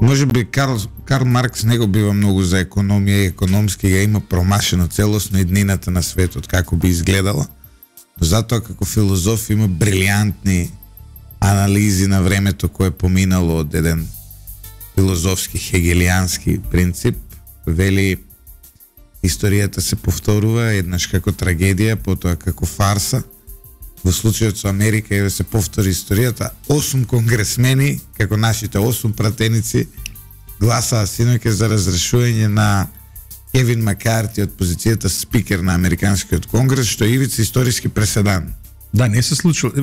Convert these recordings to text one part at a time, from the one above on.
Може би Карл Маркс не го бива многу за економија и економски ја има промашено целосно иднината на светот како би изгледала. Но затоа како филозоф има брилијантни анализи на времето кое поминало од еден филозофски хегелијански принцип. Вели историјата се повторува еднаш како трагедија, потоа како фарса. Во случајот со Америка еве се повтори историјата. 8 конгресмени, како нашите 8 пратеници, гласаа синоќа за разрешување на Кевин Макарти од позицијата спикер на Американскиот конгрес, што е ивица историски преседан. Да, не се случило.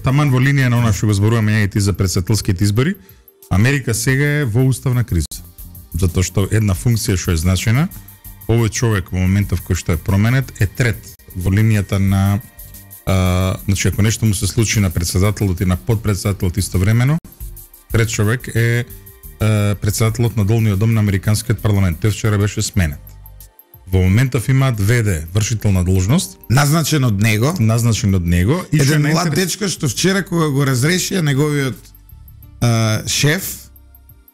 Таман во линија на она што го зборуваме ја и ти за претседателските избори, Америка сега е во уставна криза. Затоа што една функција што е значена, овој човек во моментов кој што е променет е трет во линијата на значи ако нешто му се случи на претседателот и на подпредседателот истовремено, трет човек е претседателот на долниот дом на Американскиот парламент. Тој вчера беше сменет. Во моментов имаат ВД, вршител на должност, назначен од него и еден млад дечко што вчера кога го разрешија неговиот шеф,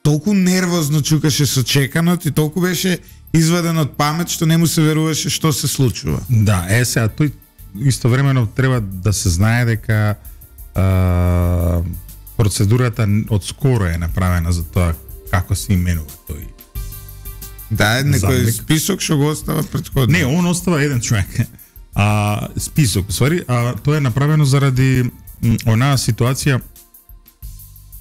толку нервозно чукаше со чеканот и толку беше изваден од памет што не му се веруваше што се случува. Да, сега тој истовремено треба да се знае дека процедурата од скоро е направена за тоа како се именува тој. Да, некој список што го остава претходно. Не, он остава еден човек. Список, тоа е направено заради онаа ситуација,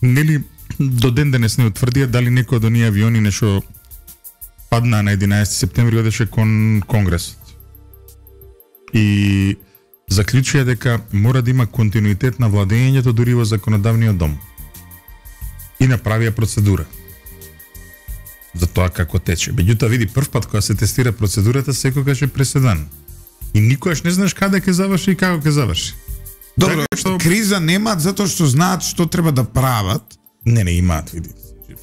нели до ден денес не утврдија дали некој од оние авиони нешто падна на 11 септември одеше кон Конгресот. И заклучија дека мора да има континуитет на владењето дури во законодавниот дом. И направија процедура за тоа како тече. Меѓутоа види прв пат кога се тестира процедурата секогаш е преседан. И никогаш не знаеш каде ќе заврши и како ќе заврши. Добро, што криза немаат затоа што знаат што треба да прават. Не имаат, види.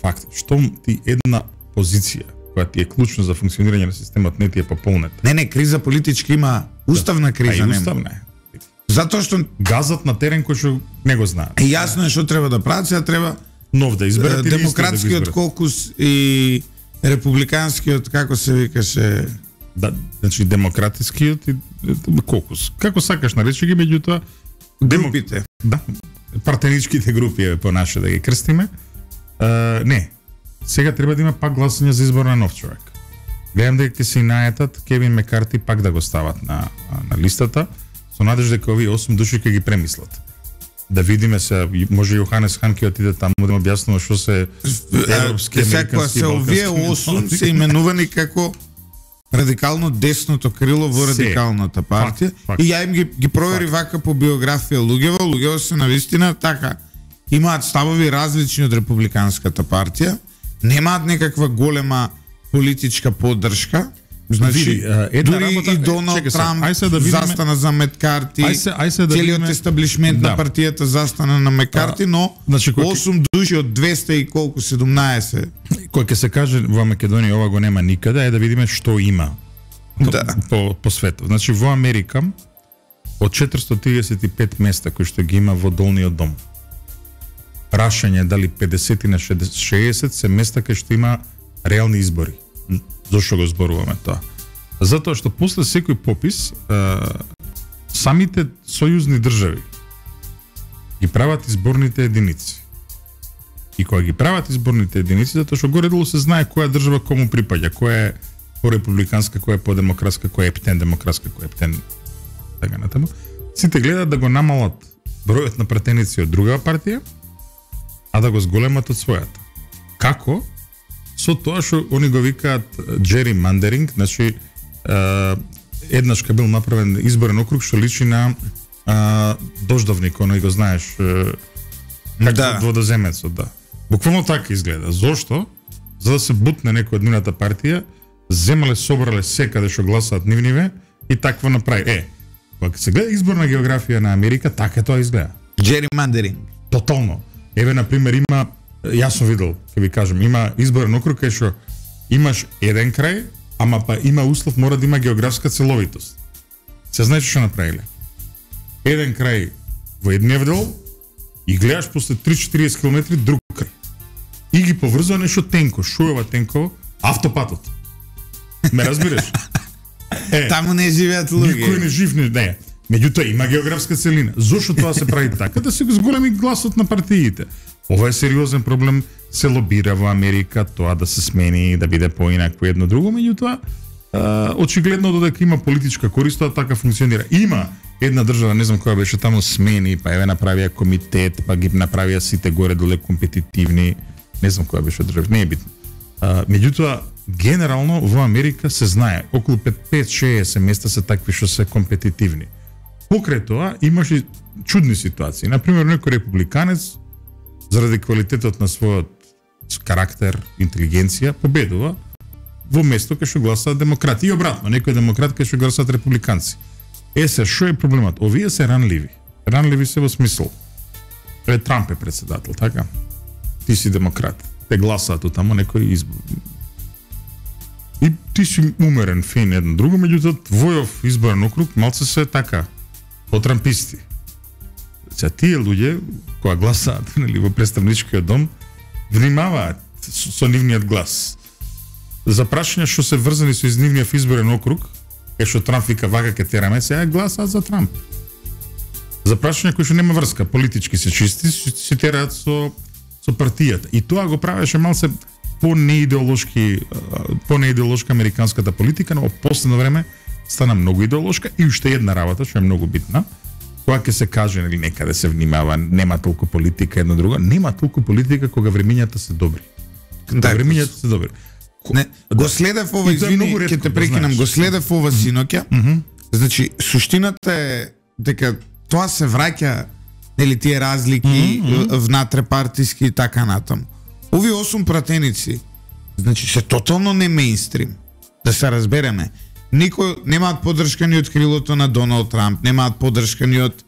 Факт, што ти една позиција која ти е клучна за функционирање на системот не ти е пополнета. Не, криза политички има, уставна криза нема. Уставна е. Затоа што газат на терен кој што не го знаат. Јасно е што треба да прават, сега треба нов да изберат демократскиот кокус и републиканскиот, како се викаше? Да, значи демократскиот и кокус. Како сакаш наречи ги, меѓутоа групите. Да, партеничките групи по наше да ги крстиме. Не. Сега треба да има пак гласање за избор на нов човек. Гледам дека ќе се најетат Кевин Макарти пак да го стават на листата, со надежда дека овие 8 души ќе ги премислат. Да видиме се, може Јоханес Хан ќе отиде таму да му објаснува што се европски, американски, се овие 8 се именувани како радикално десното крило во радикалната партија. И ја им ги провери вака по биографија луѓево се навистина така имаат ставови различни од републиканската партија, немаат некаква голема политичка поддршка. Значи, дури и Доналд Трамп застана за Макарти, целиот естаблишмент на партијата застана на Макарти, но 8 души од 200 и колку 17. Кој ќе се каже во Македонија ова го нема никаде, да видиме што има по светот. Значи во Америка од 435 места кои што ги има во долниот дом, прашање дали 50 на 60 се места кај што има реални избори. Зошто го зборуваме тоа? Затоа што после секој попис самите сојузни држави ги прават изборните единици. И кога ги прават изборните единици, затоа што горе-долу се знае која држава кому припаѓа, која е по-републиканска, која е по-демократска, која е ептен демократска, која е ептен така натаму. Сите гледаат да го намалат бројот на пратеници од друга партија, а да го зголемат од својата. Како? Со тоа што они го викаат gerrymandering, значи еднаш кога бил направен изборен округ што личи на дождовник, оној го знаеш, како водоземецот, да. Буквално така изгледа. Зошто? За да се бутне некој од нивната партија, земале, собрале секаде што гласаат нивниве и такво направи. Кога се гледа изборна географија на Америка, така тоа изгледа. Gerrymandering. Тотално. Еве, например, има, јас сум видел, ќе ви кажем, има изборен округ кај што имаш еден крај, ама па има услов, мора да има географска целовитост. Се знае што направиле. Еден крај во едниот дел, и гледаш после 3-40 км друг крај. И ги поврзува нешто тенко, шуева тенко, автопатот. Ме разбираш? Таму не живеат луѓе. Никој не жив не. Меѓутоа има географска целина. Зошто тоа се прави така? Да се го зголеми гласот на партиите. Ова е сериозен проблем, се лобира во Америка тоа да се смени, да биде поинакво едно друго, меѓутоа очигледно додека има политичка корист, тоа така функционира. Има една држава, не знам која беше таму, смени, па еве направија комитет, па ги направија сите горе доле компетитивни, не знам која беше држава, не е битно. Меѓутоа генерално во Америка се знае, околу 5-6 места се такви што се компетитивни. Покрај тоа имаше чудни ситуации. Например, некој републиканец заради квалитетот на својот карактер, интелигенција, победува во место кај што гласаат демократи и обратно, некој демократ кај што гласаат републиканци. Се, што е проблемот? Овие се ранливи. Ранливи се во смисол. Трамп е председател, така? Ти си демократ. Те гласаат од тамо некој избор. И ти си умерен, фин, едно друго, меѓутоа твојов изборен округ малце се така, потрамписти. Сега тие луѓе кои гласаат, нели, во представничкиот дом, внимаваат со нивниот глас. За прашања што се врзани со нивниот изборен округ, што Трамп вика вака ке тераме, сега гласаат за Трамп. За прашања кои што нема врска, политички се чисти, се тераат со партијата. И тоа го правеше малце по-неидеолошка американската политика, но во последно време стана многу идеолошка и уште една работа што е многу битна. Кога ќе се каже, нели, некаде се внимава, нема толку политика, едно друго, нема толку политика кога времињата се добри. Кога времињата се добри. Не, го следев ова, извини, ќе те прекинам, го следев ова синоќа. Значи, суштината е дека тоа се враќа, нели, тие разлики внатре-партиски и така натаму. Овие 8 пратеници, значи, се тотално не мејнстрим, да се разбереме. Никој немаат поддршка ни од крилото на Доналд Трамп, немаат поддршка ни од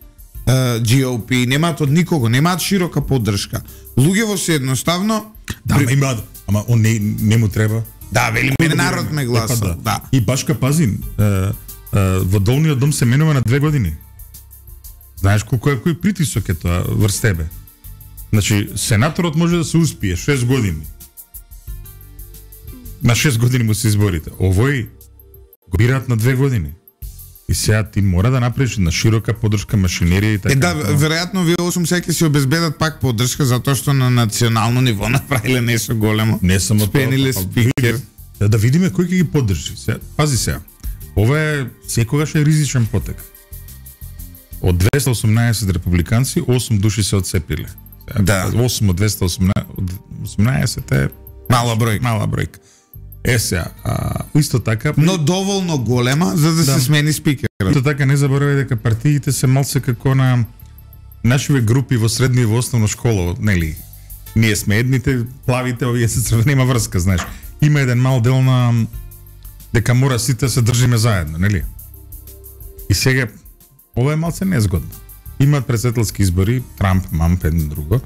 GOP, немаат од никого, немаат широка поддршка. Луѓето се едноставно имаат, ама он не му треба. Да, вели мене народ ме гласа. Да. И Башка Пазин, во долниот дом се менува на 2 години. Знаеш кој притисок е тоа врз тебе? Значи, сенаторот може да се успие 6 години. На 6 години му се изборите. Овој го бираат на 2 години. И сега ти мора да направиш на широка поддршка, машинерија и така. Да, веројатно вие 8 сега ќе се обезбедат пак поддршка затоа што на национално ниво направиле нешто големо. Не само спениле спикер. Да видиме кој ќе ги поддржи. Пази сега. Ова е секогаш е ризичен потек. Од 218 републиканци 8 души се отцепиле. Да. 8 од 218 е мала бројка. Сега, исто така... Но доволно голема за да се смени спикерот. Исто така не заборавај дека партиите се малце како на нашиве групи во средна и во основна школа, нели? Ние сме едните, плавите, овие се црвени, нема врска, знаеш. Има еден мал дел на дека мора сите се држиме заедно, нели? И сега ова е малце незгодно. Имаат председателски избори, Трамп, Мамп, едно друго.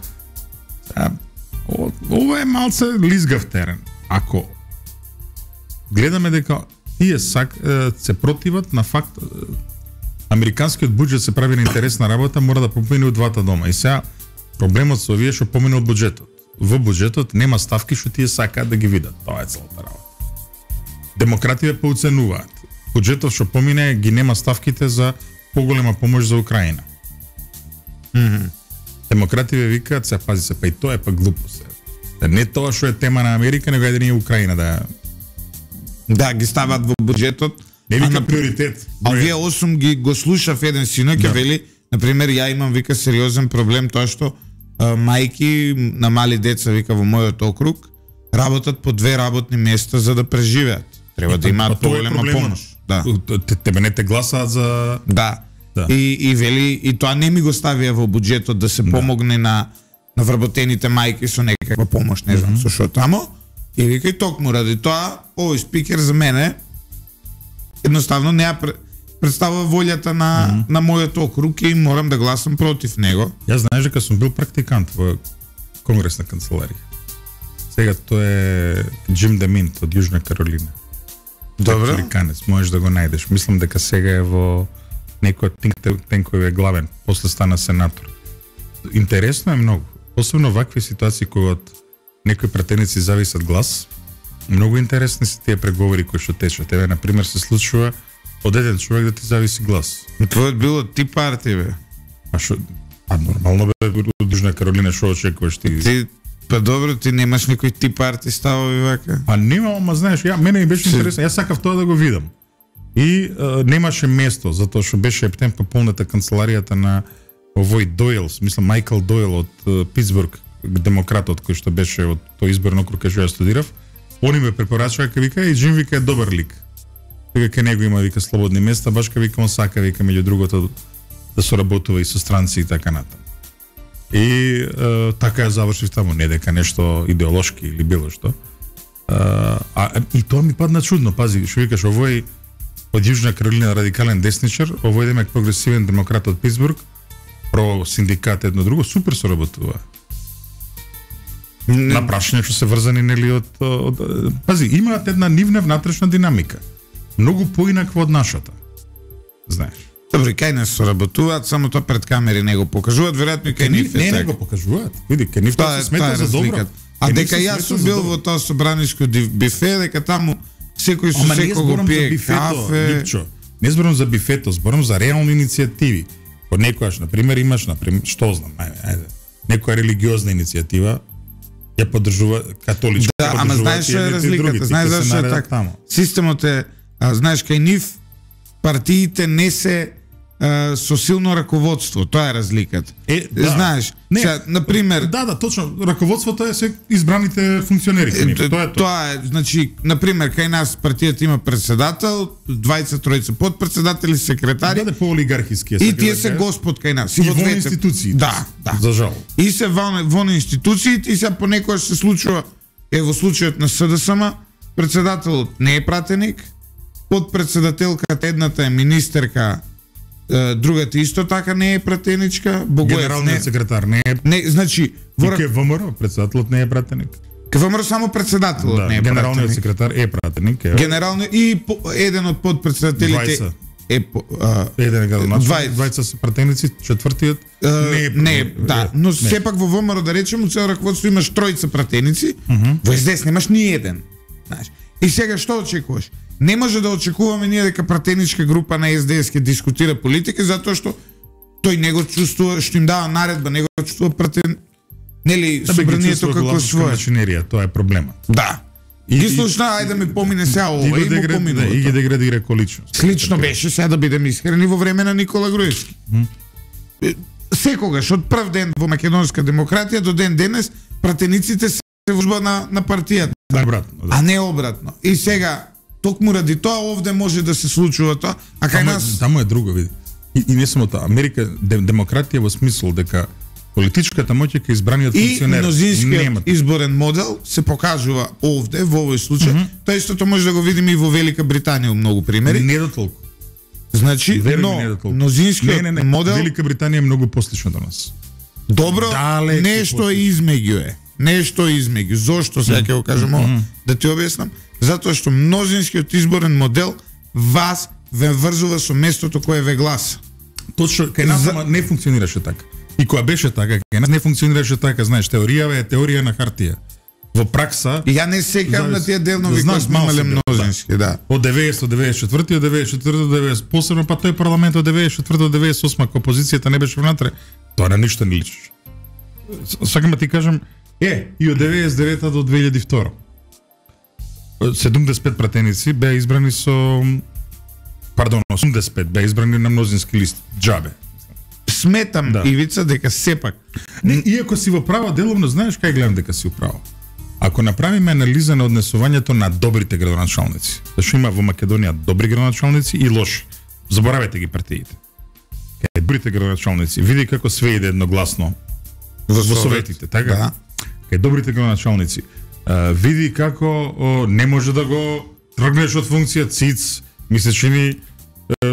Ова е малце лизгав терен. Ако гледаме дека тие се противат на факт американскиот буџет се прави на интересна работа, мора да помине од двата дома. И сега проблемот со овие што помине од буџетот. Во буџетот нема ставки што тие сакаат да ги видат. Тоа е целата работа. Демократите поуценуваат. Буџетот што помине ги нема ставките за поголема помош за Украина. Демократите викаат, се пази се, па и тоа е па глупост. Не тоа што е тема на Америка, него е да ни Украина да ги стават во буџетот. Не вика приоритет. А вие 8 ги го слушав еден синоќ, вели, например, ја имам, вика, сериозен проблем тоа што мајки на мали деца, вика, во мојот округ работат по 2 работни места за да преживеат. Треба да имаат поголема помош. Да. Тебе не те гласаат за... Да. И вели, и тоа не ми го ставија во буџетот да се помогне на вработените мајки со некаква помош, не знам, со што тамо. И вика, и токму ради тоа, овој спикер за мене едноставно не представува волјата на мојот округ и морам да гласам против него. Јас знаеш дека сум бил практикант во Конгресна канцеларија. Сега тој е Джим Деминт од Јужна Каролина. Добро. Американец, можеш да го најдеш. Мислам дека сега е во некој од тенкови главен, после стана сенатор. интересно е многу. Посебно вакви ситуации кога од некои пратеници зависат глас. Многу интересни се тие преговори кои што течат. Еве на пример се случува од еден човек да ти зависи глас. Твојот било ти партија, бе. Нормално бе од Јужна Каролина, што очекуваш ти? Па добро, ти немаш никој ти партии ставови вака? Немам, ама знаеш, мене ми беше интересно, јас сакав тоа да го видам. И немаше место, затоа што беше ептен пополната канцеларијата на овој Дойл, мислам Майкл Дойл од Питсбург, демократот кој што беше од тој изборен округ кај што ја студирав. Они ме препорачаа, вика, и Джим вика е добар лик. Вика, кај него има, вика, слободни места, баш кај вика, он сака, вика, меѓу другото, да соработува и со странци и така натаму. И така ја завршив таму, не дека нешто идеолошки или било што. И тоа ми падна чудно, пази, што викаш, овој од Јужна Каролина радикален десничар, овој демек прогресивен демократ од Питсбург, про синдикат едно друго, супер соработува. На прашање што се врзани нели од пази, имаат една нивна внатрешна динамика. Многу поинаква од нашата. Знаеш. Добро, кај нас соработуваат, само тоа пред камери не го покажуваат, веројатно и кај нив е така. Не го покажуваат. Види, кај нив тоа се смета за добро. А дека јас сум бил во тоа собранишко бифе, дека таму секој со секој го пие кафе. Не зборам за бифето, зборам за реални иницијативи. Од некојаш, на пример, имаш, што знам, ајде, некоја религиозна иницијатива ја поддржува католичка. Да, ама знаеш што е разликата, знаеш зашто е така. Системот е, знаеш, кај нив партиите не се со силно раководство, тоа е разликата. Знаеш, сега, на пример, да, точно, раководството е се избраните функционери. Тоа е, значи, на пример, кај нас партијата има председател, 20-тројца подпредседатели, секретари. Да, по-олигархиски. И тие се господ кај нас. И во институциите. Да. За жал. И се во институциите и се понекогаш се случува, во случајот на СДСМ, председателот не е пратеник, подпредседателката едната е министерка, другата исто така не е пратеничка, генералниот секретар не е. Не, значи, и КВМР председателот не е пратеник. КВМР само председателот не е пратеник. Генералниот секретар е пратеник. Генералниот и еден од подпредседателите еден градоначалник, двајца се пратеници, четвртиот не е, да, но сепак во ВМРО да речеме, цел раководство имаш тројца пратеници, во СДС немаш ни еден, знаеш. И сега што очекуваш? Не може да очекуваме ние дека пратеничка група на СДС ќе дискутира политика, затоа што тој не го чувствува, што им дава наредба, не го чувствува пратен, нели, собранието како свое. Тоа е проблемот. Да. И слушна, ајде да ми помине сега ова и му помине. И ги деградира ко личност. Слично беше сега да бидеме искрени во време на Никола Груевски. Секогаш од прв ден во македонска демократија до ден денес пратениците се во на партијата. А не обратно. И сега токму ради тоа овде може да се случува тоа, а кај нас таму е друго, види. И не само тоа, Америка демократија во смисол дека политичката моќ е кај избраниот функционер. И мнозинскиот изборен модел се покажува овде во овој случај. Тоа истото може да го видиме и во Велика Британија, многу примери. Не до толку. Значи, мнозинскиот модел Велика Британија е многу послично до нас. Добро, нешто е измеѓу е. Нешто измеѓу. Зошто сега ќе го кажам ова? Да ти објаснам. Затоа што мнозинскиот изборен модел вас ве врзува со местото кое ве гласа. Точно, кај нас не функционираше така. И кога беше така, кај нас не функционираше така, знаеш, теоријава е теорија на хартија. Во пракса... И ја не секам на тие делнови кои сме имале мнозински, да. Од 90 до 94, од 94 до 90, посебно па тој парламент од 94 до 98, кога опозицијата не беше внатре, тоа на ништо не личеше. Сакам да ти кажам, и од 99 до 2002. 75 пратеници беа избрани со... Пардон, 85 беа избрани на мнозински лист. Џабе. Сметам, да. Ивица, дека сепак... Не, иако си во право деловно, знаеш кај гледам дека си управо? Ако направиме анализа на однесувањето на добрите градоначалници, зашто има во Македонија добри градоначалници и лоши. Заборавете ги партиите. Кај добрите градоначалници, види како све иде едногласно во советите, така? Да. Кај добрите градоначалници, види како не може да го тргнеш од функција циц, ми се чини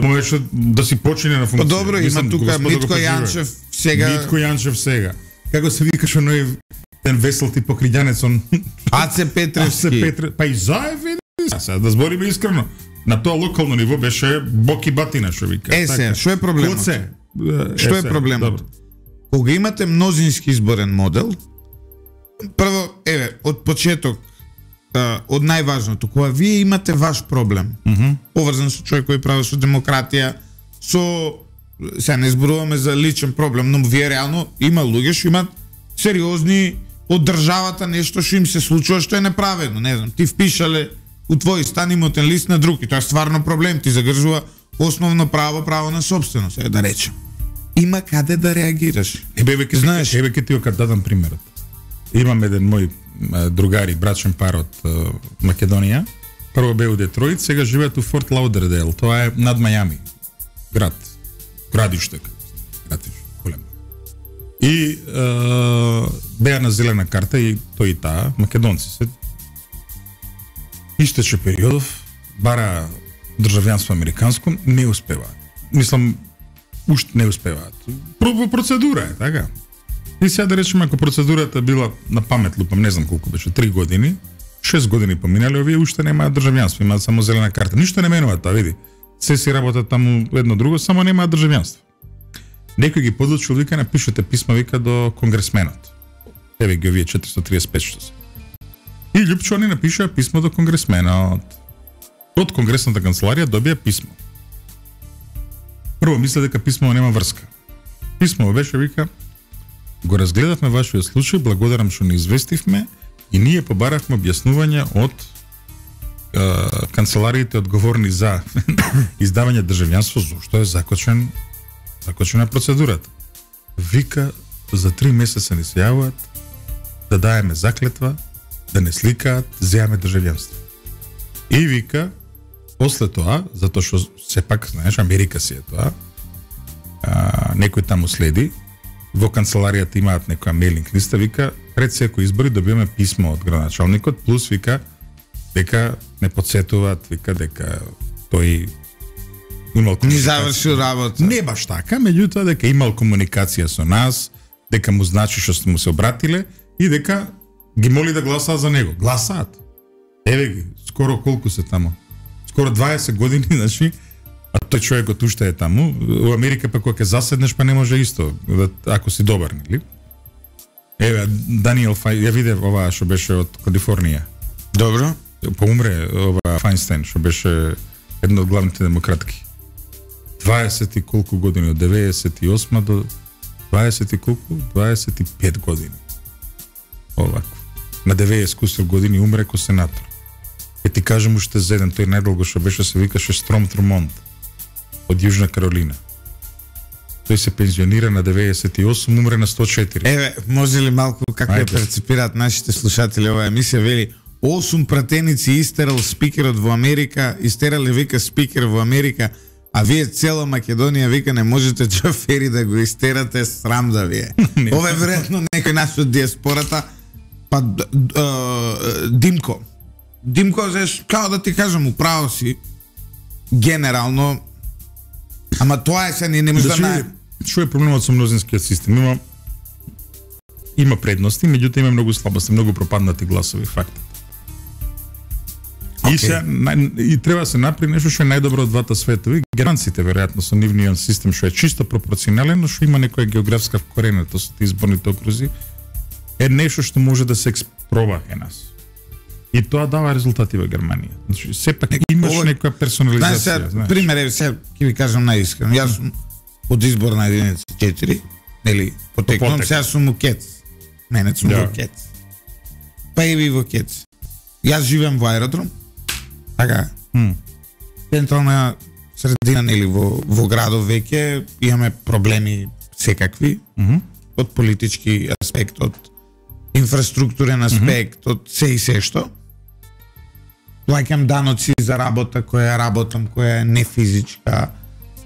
можеше да си почине на функција. Добро, има тука Митко Јанчев сега. Митко Јанчев сега. Како се викаш оној ten весел тип покридјанец он Аце Петревски. Па и заев види. Сега да збориме искрено. На тоа локално ниво беше бок и батина, што вика. Сега, што е проблемот? Што е проблемот? кога имате мнозински изборен модел, прво, од почеток, од најважното, кога вие имате ваш проблем, поврзан со човек кој прави со демократија, сега не зборуваме за личен проблем, но вие реално има луѓе што имат сериозни од државата нешто што им се случува што е неправедно, не знам, ти впишале у твој стан имотен лист на друг и тоа е стварно проблем, ти загржува основно право на собственост, да речем. Има каде да реагираш. Знаеш, ке ти го дадам примерот. Имам еден мој другари, брачен пар од Македонија. Прво бе у Детройт, сега живеат у Форт Лаудердейл. Тоа е над Мајами. Градиште, големо. И беа на зелена карта и тој и таа, македонци се. Истече периодов, бара државјанство американско, не успеваат. Мислам, уште не успеваат. Процедура е, така? И сега да речеме, ако процедурата била на памет, лупам, не знам колку беше, 3 години, 6 години поминали, овие уште немаат државјанство, имаат само зелена карта. Ништо не менува тоа, види. Се си работат таму едно друго, само немаат државјанство. Некој ги подлучил, вика, напишете писма, вика, до конгресменот. Еве ги овие 435 што се. И Љупчо они напишаа писмо до конгресменот. Од конгресната канцеларија добија писмо. Прво мисле дека писмо нема врска. Писмо беше, вика, го разгледавме вашиот случај, благодарам што не известивме и ние побаравме објаснување од канцелариите одговорни за издавање државјанство, зашто е закочена процедурата. Вика, за 3 месеца не се јавуваат, да даеме заклетва, да не сликаат, земаме државјанство. И вика, после тоа, затоа што сепак, знаеш, Америка си е тоа, некој таму следи, во канцеларијата имаат некоја мейлинг листа, вика, пред секој избори добиваме писмо од градоначалникот, плюс вика, дека не подсетуваат, вика, дека тој имал комуникација. Ни завршил работа. Не баш така, меѓутоа дека имал комуникација со нас, дека му значи што сте му се обратиле и дека ги моли да гласаат за него. Гласаат. Еве ги, скоро колку се таму? Скоро 20 години, значи, а тој човекот уште е таму. У Америка па кога ќе заседнеш па не може исто, ако си добар, нели? Еве, Даниел ја видев ова што беше од Калифорнија. Добро. Поумре ова Фајнстайн, што беше една од главните демократки. 20 и колку години, од 98 до 20 и колку? 25 години. Овако. На 90 години умре ко сенатор. Е ти кажам уште зеден, тој најдолго што беше се викаше Стром Трумонт од Јужна Каролина. Тој се пензионира на 98, умре на 104. Еве, може ли малку како ја перцепираат нашите слушатели оваа емисија, вели 8 пратеници истерал спикерот во Америка, истерале вика спикер во Америка, а вие цела Македонија вика не можете шофери да го истерате, срам да вие. Ова е веројатно некој наш од диаспората, па Димко, знаеш, како да ти кажам, управо си, генерално, ама тоа е се, ние не може да најдем. Што е проблемот со мнозинскиот систем? Има предности, меѓутоа има многу слабости, многу пропаднати гласови, фактот. И треба да се направи нешто што е најдобро од двата светови. Германците веројатно со нивниот систем што е чисто пропорционален, но што има некоја географска вкоренетост со изборните окрузи, е нешто што може да се експроба е нас. И тоа дава резултати во Германија. Значи, сепак имаш некоја персонализација. Знаеш, пример, еве сега ќе ви кажам најискрено. Јас сум од изборна единица 4, нели, потекнувам, сега сум у Кец. Мене сум во Кец. Па и ви во Кец. Јас живеам во аеродром. Така. Централна средина, нели, во градов веќе имаме проблеми секакви. Од политички аспект, од инфраструктурен аспект, од се и се што. Плаќам даноци за работа која работам, која е не физичка,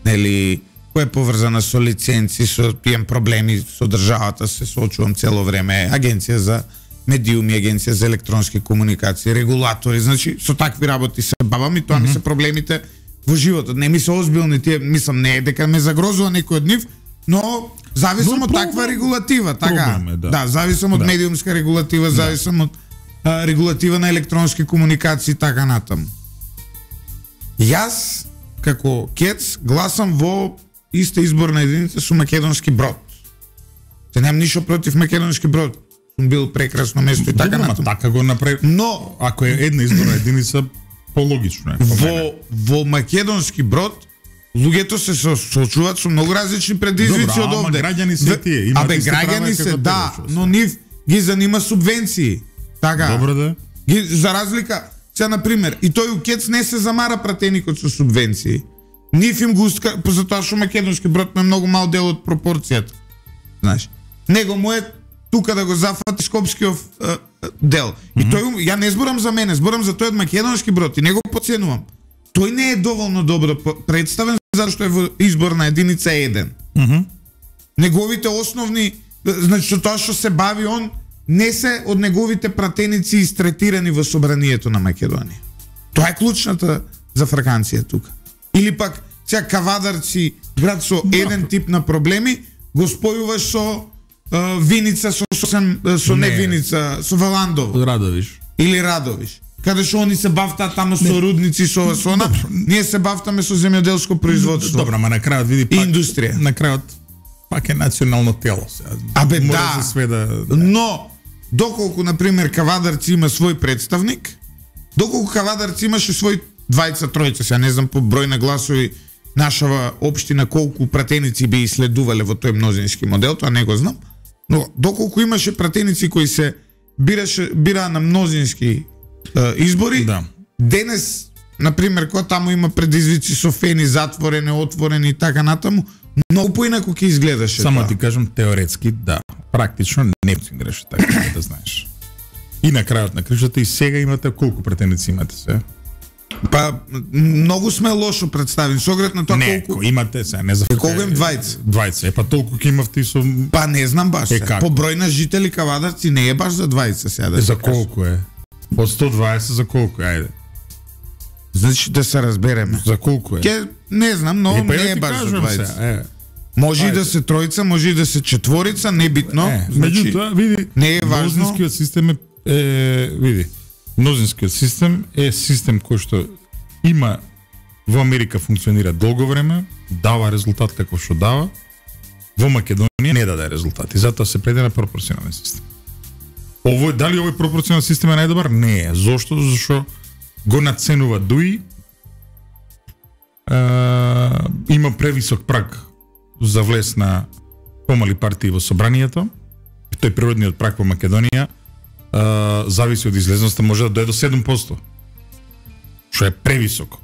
нели, која е поврзана со лиценци, со имам проблеми со државата, се соочувам цело време, агенција за медиуми, агенција за електронски комуникации, регулатори, значи со такви работи се бавам и тоа ми се проблемите во животот. Не ми се озбилни тие, мислам не е дека ме загрозува некој од нив, но зависам од таква регулатива, така. Да, зависам од медиумска регулатива, зависам од регулатива на електронски комуникации, така натаму. Јас, како Кец, гласам во иста изборна единица со Македонски Брод. Се немам ништо против Македонски Брод. Сум бил прекрасно место и така натаму. Така го направи. Но ако е една изборна единица, пологично е. Во Македонски Брод луѓето се соочуваат со многу различни предизвици од овде. Граѓани се тие, имаат исти права граѓани се, да, тебе, но нив ги занима субвенции. Така. Добро да. За разлика, сега на пример, и тој укец не се замара пратеникот со субвенции. Нив им го затоа што Македонски Брод е многу мал дел од пропорцијата. Знаеш, него му е тука да го зафати Скопскиот дел. И тој, ја не зборам за мене, зборам за тој од Македонски Брод и него подценувам. Тој не е доволно добро представен зашто е во изборна единица 1. Неговите основни, значи тоа што се бави он, не се од неговите пратеници истретирани во собранието на Македонија. Тоа е клучната за фраканција тука. Или пак, сега Кавадарци, град со еден тип на проблеми, го спојуваш со Виница, со не Виница, со Валандово. Радовиш. Или Радовиш. Каде што они се бавтаат тамо со рудници, со она, ние се бавтаме со земјоделско производство. Добро, ама на крајот види пак индустрија. На крајот пак е национално тело сега. Абе Мора да, се сведа. Но доколку на пример Кавадарци има свој представник, доколку Кавадарци имаше свој двајца, тројца, сега не знам по број на гласови нашава општина колку пратеници би иследувале во тој мнозински модел, тоа не го знам, но доколку имаше пратеници кои се бираа на мнозински избори, да. Денес, на пример, кога таму има предизвици со фени затворени, отворени и така натаму, многу поинаку ќе изгледаше. Само тоа. ти кажам теоретски, да, практично не фунграше така, да знаеш. И на крајот на кришата и сега имате колку пратеници имате се? Па многу сме лошо представени со оглед на тоа колку имате се, не за колку им двајца. Двајца, па толку ќе имавте со Па не знам баш. По број на жители Кавадарци не е баш за двајца сега да. За колку е? Од 120 за колку е? Ајде. Значи да се разбереме. За колку е? Ке не знам, но не е баш за двајца. Може и да се тројца, може и да се четворица, небитно. Значи, види, не е важно. Мнозинскиот систем види. Мнозинскиот систем е систем кој што има во Америка функционира долго време, дава резултат како што дава. Во Македонија не даде резултати, затоа се преде на пропорционален систем. Дали овој пропорционален систем е најдобар? Не е. Зошто? Зашто го наценува ДУИ, има превисок праг за влез на помали партии во собранието. Тој природниот праг во Македонија зависи од излезноста, може да дојде до 7%. Што е превисоко.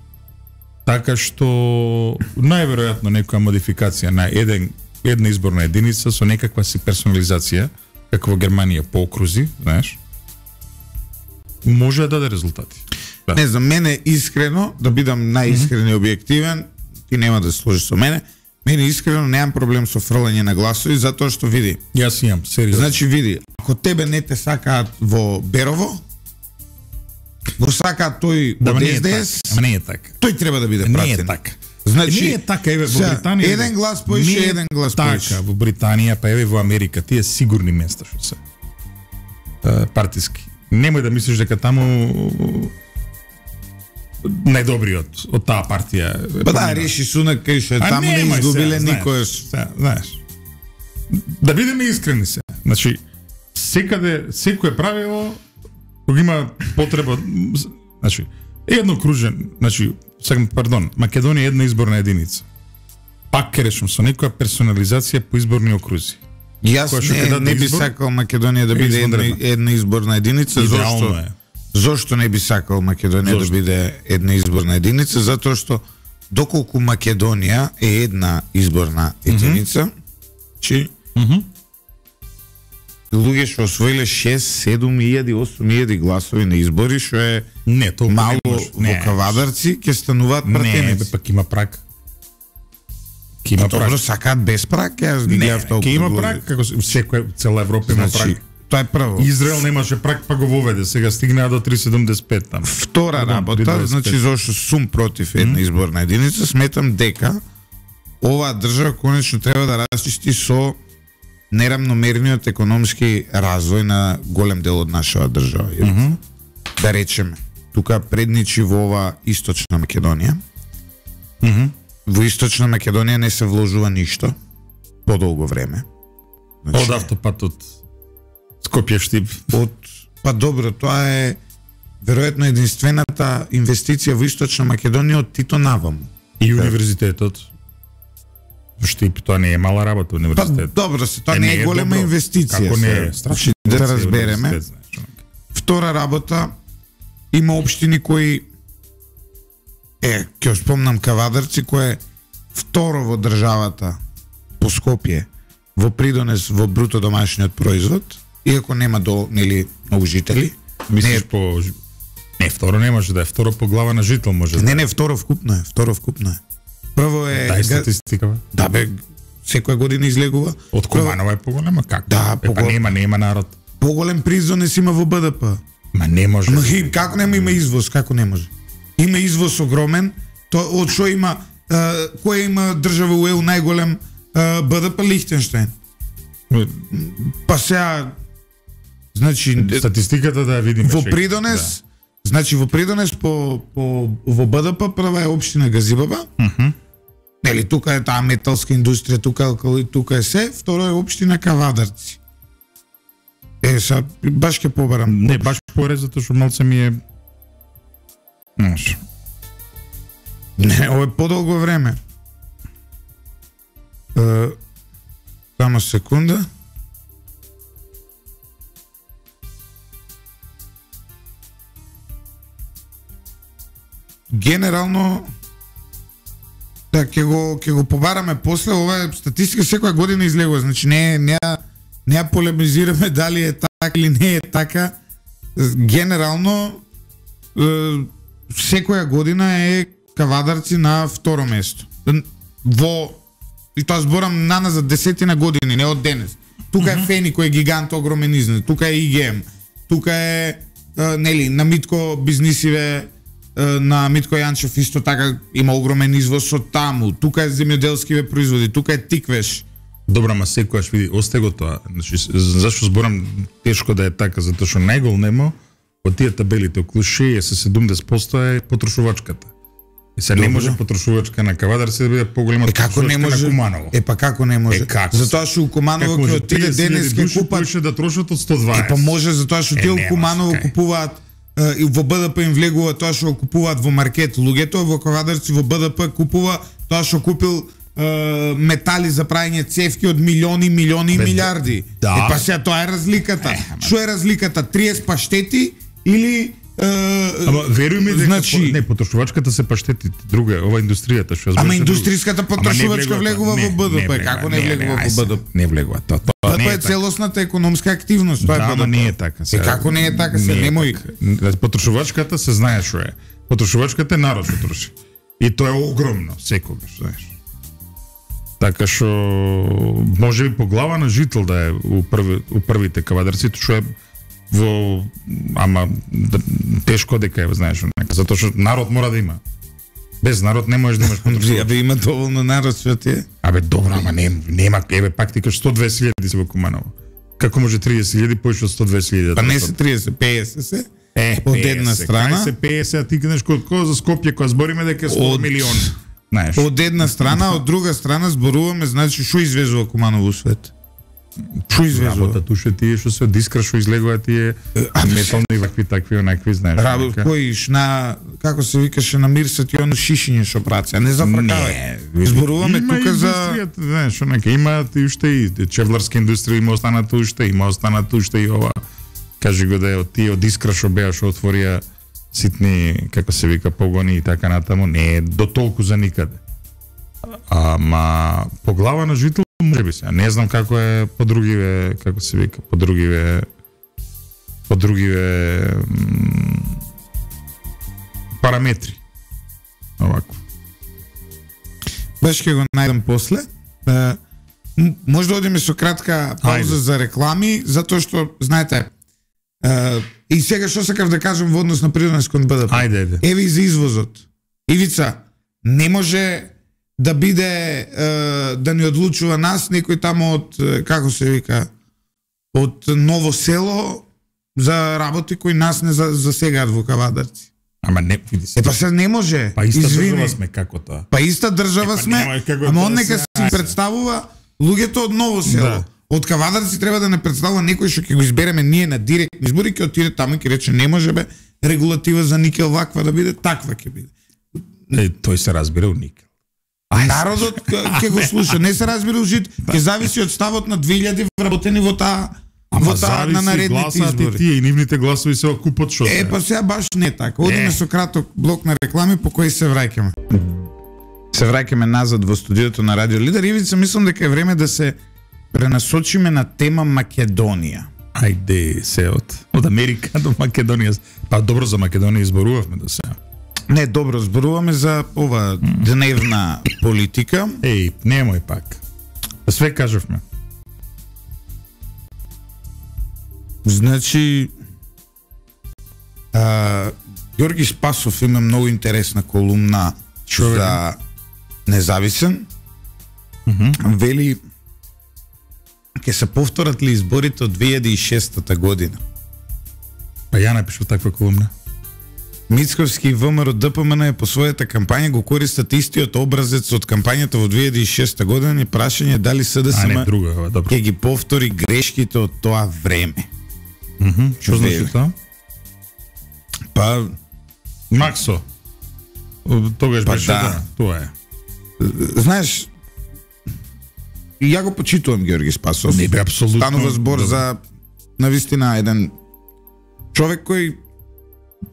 Така што најверојатно некоја модификација на една изборна единица со некаква си персонализација, како во Германија по окрузи, знаеш, може да даде резултати. Да. Не знам, мене искрено, да бидам најискрен и објективен, ти нема да се сложиш со мене искрено немам проблем со фрлање на гласови, затоа што види. Јас имам, сериозно. Значи види, ако тебе не те сакаат во Берово, го сакаат тој од СДС, ама не е така. Тој треба да биде пратен. Не е така. Значи, не е така, еве во Британија. Еден глас поише, еден глас поише. Така, во Британија, па еве во Америка, тие сигурни места што се партиски. Немој да мислиш дека таму најдобриот од таа партија. Па да, Реши Сунак кај што таму не изгубиле никош. Знаеш. Да бидеме искрени се. Значи, секое правило кога има потреба, значи, едно кружен, значи, Македонија е една изборна единица. Пак ке речем со некоја персонализација по изборни окрузи. Јас не би сакал Македонија да биде една изборна единица, зошто не би сакал Македонија да биде една изборна единица, затоа што доколку Македонија е една изборна единица, чи луѓе што освоиле 6, 7 илјади, 8 илјади гласови на избори, што е мало во Кавадарци, ќе стануваат пратеници. Не, пак има праг. Добро, сакаат без праг, јас ги гледав толку. Ке има праг, како секоја цела Европа има праг. Тоа е прво. Израел немаше праг, па го воведе, сега стигнаа до 3,75 там. Втора работа, значи зашто сум против една изборна единица, сметам дека оваа држава конечно треба да расчисти со нерамномерниот економски развој на голем дел од нашава држава. Да речеме, тука предничи во ова Источна Македонија. Во Источна Македонија не се вложува ништо подолго време. Од автопатот Скопје-Штип. Па добро, тоа е веројатно единствената инвестиција во Источна Македонија од Тито наваму. И универзитетот. Штип, тоа не е мала работа универзитет. Па добро се, тоа не е голема инвестиција. Како не е, страшно да разбереме. Втора работа, има општини кои ќе спомнам Кавадарци, кој е второ во државата по Скопје во придонес во бруто домашниот производ, иако нема многу жители. Мислиш по не второ не може да е, второ по глава на жител може. Не, второ вкупно е, Прво е Дај статистика. Да бе, секоја година излегува. Од Куманова е поголема, како? Да, па нема народ. Поголем придонес има во БДП. Ма не може. Како нема има извоз, како не може? Има извоз огромен, од што има која има држава у ЕУ најголем БДП? Лихтенштајн. Па сега значи статистиката да ја видиме. Во придонес, значи во придонес во БДП прва е општина Газибаба. Нели тука е таа металска индустрија, тука е се, второ е општина Кавадарци. Са баш ќе побарам. Не, баш порез затоа што малце ми е Не, ова е подолго време. Само секунда. Генерално да ќе го побараме после, ова е статистика секоја година излегува, значи не ја полемизираме дали е така или не е така. Генерално секоја година е Кавадарци на второ место. И тоа зборам наназад десетина години, не од денес. Тука е Фени кој е гигант огромен износ, тука е ИГМ, тука е нели на Митко бизнисиве, на Митко Јанчев исто така има огромен извоз од таму, тука е земјоделскиве производи, тука е Тиквеш. Добра, ма секојаш види, осте го тоа. Значи, зашто зборам тешко да е така, затоа што најголемо од тие табелите околу 60-70% е потрошувачката. И се не може потрошувачка на Кавадарци да биде поголема од потрошувачка на Куманово. Па како не може? Затоа што у Куманово ќе отиде денес ќе купат да трошат од 120. Па може затоа што тие у Куманово купуваат и во БДП им влегува тоа што купуваат во маркет. Луѓето во Кавадарци во БДП купува тоа што купил метали за прајање цевки од милиони и милиарди. Па сега тоа е разликата. Што е разликата? 30 паштети или Ама веруј ми дека значи не потрошувачката се паштети, друга е ова индустријата што Ама индустријската потрошувачка влегува во БДП, како не влегува во БДП? Не влегува тоа. Тоа е целосната економска активност, тоа е БДП. Не е така. Како не е така, се немој. Потрошувачката се знае што е. Потрошувачката е народ што троши. И тоа е огромно, секогаш, знаеш. Така што може би по глава на жител да е у првите Кавадарци, што е во тешко дека е, знаеш, затоа што народ мора да има. Без народ не можеш да имаш потрошувачка. Абе има доволно народ што ти е. Абе добро, ама нема, еве пак ти кажеш 120.000 се во Куманово. Како може 30.000 повеќе од 120.000? Па не се 30, 50 се. Од една страна се 50, а ти кажеш кој за Скопје кога збориме дека е 100 милиони. Знаеш. Од една страна, од друга страна зборуваме, значи што извезува Куманово свет. Што извезува? Работа туше тие што се дискра што излегува тие метални вакви такви онакви, знаеш. Кој на како се викаше на Мирсет и оно шишиње што праца, не зафркавај. Зборуваме тука за знаеш, онака има и уште и чевларска индустрија има останато уште и ова. Кажи го да е од тие од искра што беа што отворија ситни, како се вика, погони и така натаму, не е до толку за никаде. Ама по глава на жител може би се. Не знам како е по другиве, како се вика, по другиве параметри. Овако. Баш ќе го најдам после. Може да одиме со кратка пауза за реклами, затоа што, знаете, и сега што сакав да кажам во однос на придонес кон БДП. Ајде. Еви за извозот. Ивица, не може да биде да ни одлучува нас некој тамо од како се вика од Ново село за работи кои нас не засегаат во Кавадарци. Ама не, види се. Па се не може. Па иста држава сме како тоа. Па иста држава сме. Ама он нека си представува луѓето од Ново село. од Кавадарци треба да не представува некој што ќе го избереме ние на директни избори, ќе отиде таму и ќе рече не може бе регулатива за никел ваква да биде, таква ќе биде. Тој се разбира у никел. Народот ќе го слуша, не се разбира ужит, ќе зависи од ставот на 2000 вработени во таа на наредните избори. Тие и нивните гласови се окупат што се. Па сега баш не така. Одиме со краток блок на реклами по кој се враќаме. Се враќаме назад во студиото на Радио Лидер. Ивица, мислам дека е време да се пренасочиме на тема Македонија. Ајде, се од Америка до Македонија. Па добро за Македонија изборувавме до сега. Не, добро, зборуваме за ова дневна политика. Еј, немој пак. Све кажавме. Значи, Ѓорги Спасов има многу интересна колумна за Независен. Вели, ќе се повторат ли изборите од 2006 година? Па ја напишав таква колумна. Мицковски и ВМРО ДПМН по својата кампања го користат истиот образец од кампањата во 2006 година и прашање дали СДСМ ќе ги повтори грешките од тоа време. Што значи тоа? Па Максо. Тогаш беше да, тоа е. Знаеш, ја го почитувам Ѓорги Спасов. Не бе апсолутно. Станува збор за навистина еден човек кој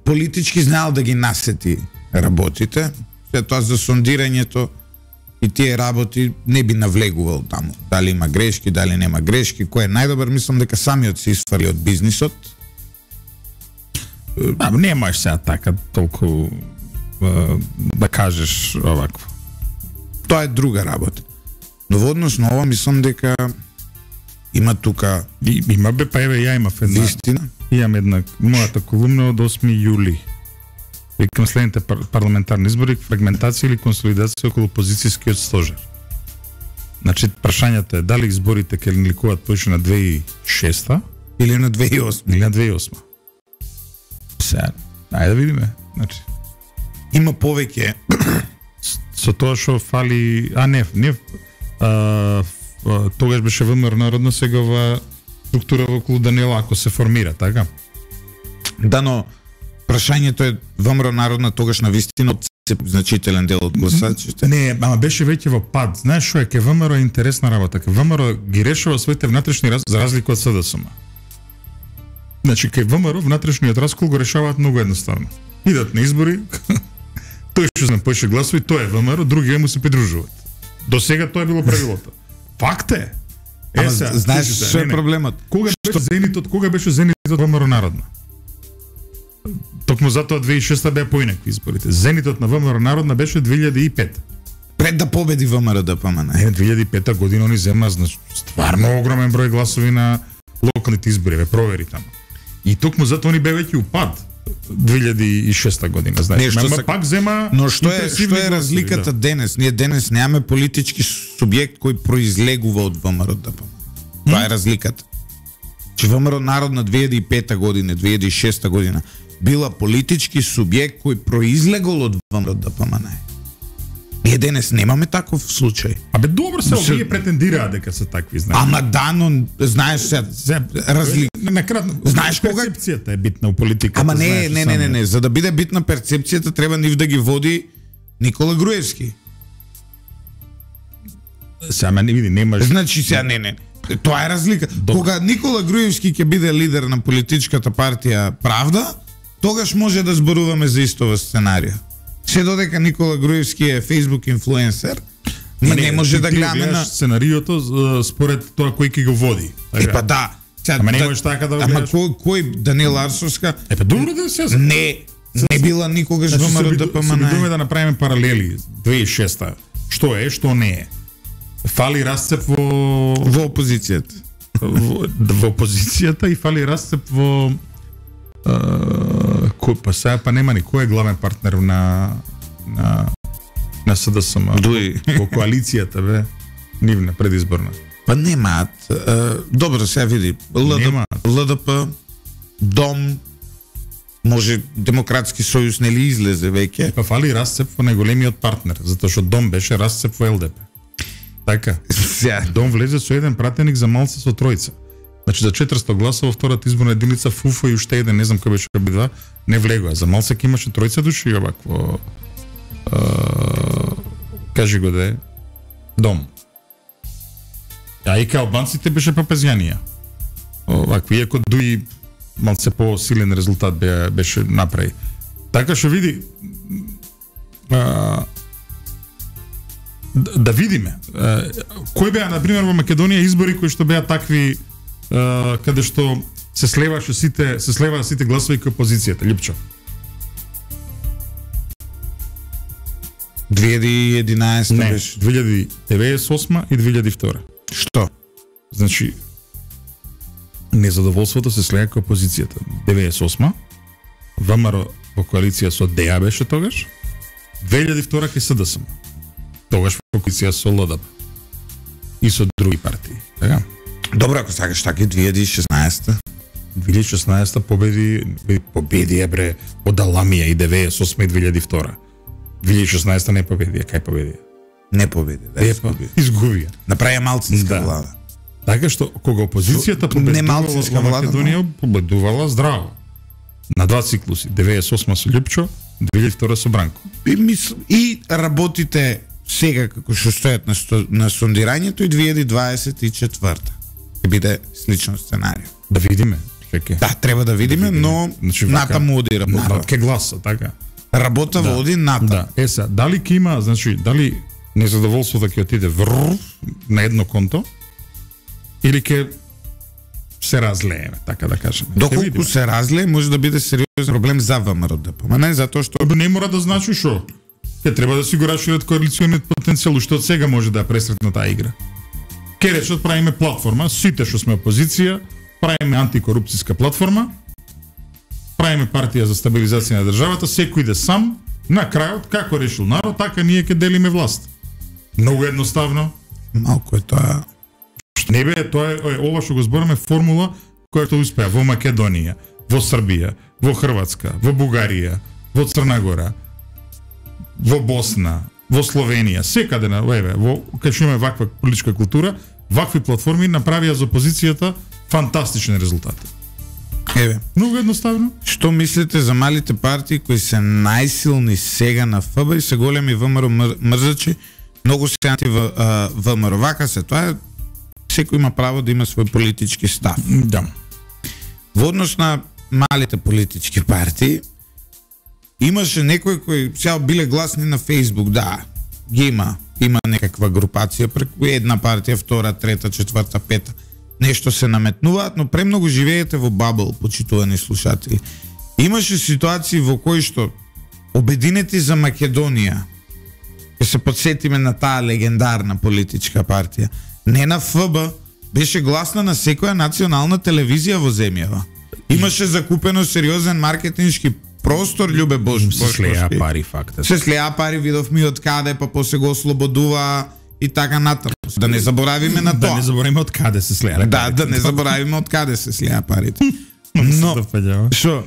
политички знаел да ги насети работите, след тоа за сондирањето и тие работи не би навлегувал таму. Дали има грешки, дали нема грешки, кој е најдобар, мислам дека самиот се исфали од бизнисот. Не можеш сега така толку да кажеш овакво. Тоа е друга работа. Но во однос на ова мислам дека има тука има бе, па еве ја имав една вистина. Имам една мојата колумна од 8 јули. Викам следните парламентарни избори, фрагментација или консолидација околу опозицијскиот стожер. Значи прашањето е дали изборите ќе ликуваат повеќе на 2006 или на 2008. Или на 2008. Сега, ајде да видиме. Значи има повеќе со тоа што фали, тогаш беше ВМРО народно, сега ова структура околу Даниела ако се формира, така? Да, но прашањето е ВМРО народна тогаш на вистина значителен дел од гласачите. Не, ама беше веќе во пад. Знаеш што е, ке ВМРО е интересна работа. Ке ВМРО ги решава своите внатрешни за разлика од СДСМ. Значи, ке ВМРО внатрешниот раскол го решаваат многу едноставно. Идат на избори, тој што знам поише гласови, тој е ВМРО, другите му се придружуваат. До сега тоа е било правилото. Факт е. Ама знаеш што е проблемот? Кога беше зенитот ВМРО народна? Токму затоа 2006 беа поинакви изборите. Зенитот на ВМРО народна беше 2005. Пред да победи ВМРО ДПМН. 2005 година они зема стварно огромен број гласови на локалните избори, ве провери таму. И токму затоа они беа веќе упад 2006 година, знаеш. Ама пак зема. Но што е разликата денес? Ние денес немаме политички субјект кој произлегува од ВМРО ДПМН. Тоа е разликата. Че ВМРО народна 2005 година, 2006 година била политички субјект кој произлегол од ВМРО ДПМН. Ние денес немаме таков случај. Абе добро се овие претендираат дека се такви, знаеш. Ама да, но знаеш се разлика. Накратно, знаеш кога перцепцијата е битна у политиката. Ама не, за да биде битна перцепцијата треба нив да ги води Никола Груевски. Сама не види, немаш. Значи сега не. Тоа е разлика. Кога Никола Груевски ќе биде лидер на политичката партија Правда, тогаш може да зборуваме за истова сценарија. Се додека Никола Груевски е Facebook инфлуенсер, не може да гледаме на сценариото според тоа кој ќе го води. Епа да. Ама не можеш така да го гледаш. Ама кој Даниела Арсовска? Епа добро да се. Не била никогаш ВМРО ДПМН. Се обидуваме да направиме паралели 2006. Што е, што не е. Фали расцеп во опозицијата. Во опозицијата и фали расцеп во па сега па нема ни кој е главен партнер на СДСМ во коалицијата бе нивна предизборна. Па немаат. Добро сега види. ЛДП, Дом, може Демократски сојуз нели излезе веќе. Па фали расцеп во најголемиот партнер, затоа што Дом беше расцеп во ЛДП. Така. Дом влезе со еден пратеник за Малце со тројца. Значи за 400 гласа во втората изборна единица ФУФА и уште еден, не знам кој беше обидва, не влегоа. За Малцек имаше тројца души овакво. Кажи го да е дом. А и као албанците беше папезјанија. Овакви, иако дуи малце по-силен резултат беше направи. Така што види да видиме кој беа на пример во Македонија избори кои што беа такви каде што се слеваа сите гласови кај опозицијата, Липчо. 2011 беше 2098 и 2002. Што? Значи незадоволството се слега кај опозицијата. 98 ВМРО во коалиција со ДЕА беше тогаш. 2002 кај СДСМ. Тогаш во коалиција со ЛДП и со други партии. Така? Добро, ако сакаш така и 2016. 2016 победи бре од Аламија и 98 и 2002. 2016 не победи, кај победи? Не победи, да. Изгубија. Направи малцинска влада. Така што кога опозицијата победувала во Македонија, победувала здраво. На два циклуси, 98 со Лјупчо, 2002 со Бранко. И работите сега како што стојат на сондирањето и 2024. Ќе биде слично сценарио. Да видиме, чеке. Да, треба да видиме, но значи, натаму оди работа. Народ ке гласа, така. Работа води натаму. Да, еса, дали ќе има, значи, дали незадоволството ќе отиде на едно конто или ќе се разлееме, така да кажеме. Доколку се разлее, може да биде сериозен проблем за ВМРО-ДП. Ма не затоа што не мора да значи што. Ќе треба да си го расшират коалициониот потенцијал, што од сега може да ја пресретне таа игра. Ке речат правиме платформа, сите што сме опозиција, правиме антикорупцијска платформа, правиме партија за стабилизација на државата, секој иде сам, на крајот како решил народ, така ние ќе делиме власт. Многу едноставно. Малку е тоа. Не бе, тоа е ова што го збораме формула која што успеа во Македонија, во Србија, во Хрватска, во Бугарија, во Црна Гора, во Босна, во Словенија, секаде на во кај што имаме ваква политичка култура, вакви платформи направија за опозицијата фантастични резултати. Еве, многу едноставно. Што мислите за малите партии кои се најсилни сега на ФБ и се големи ВМРО мрзачи, многу се анти ВМРО? Вака се, тоа е, секој има право да има свој политички став. Да. Во однос на малите политички партии, имаше некои кои сега биле гласни на Facebook, да, ги има некаква групација преку една партија, втора, трета, четврта, пета. Нешто се наметнуваат, но премногу живеете во бабл, почитувани слушатели. Имаше ситуации во кои што Обединети за Македонија, ќе се подсетиме на таа легендарна политичка партија, не на ФБ, беше гласна на секоја национална телевизија во земјава. Имаше закупено сериозен маркетиншки простор, Љубе Бошковски. Се слеа пари, факт. Се слеа пари, видовме од каде, па после го ослободува и така натаму. Да не заборавиме на тоа. Да не заборавиме од каде се слеа. Да не заборавиме од каде се слеа парите. Но, шо?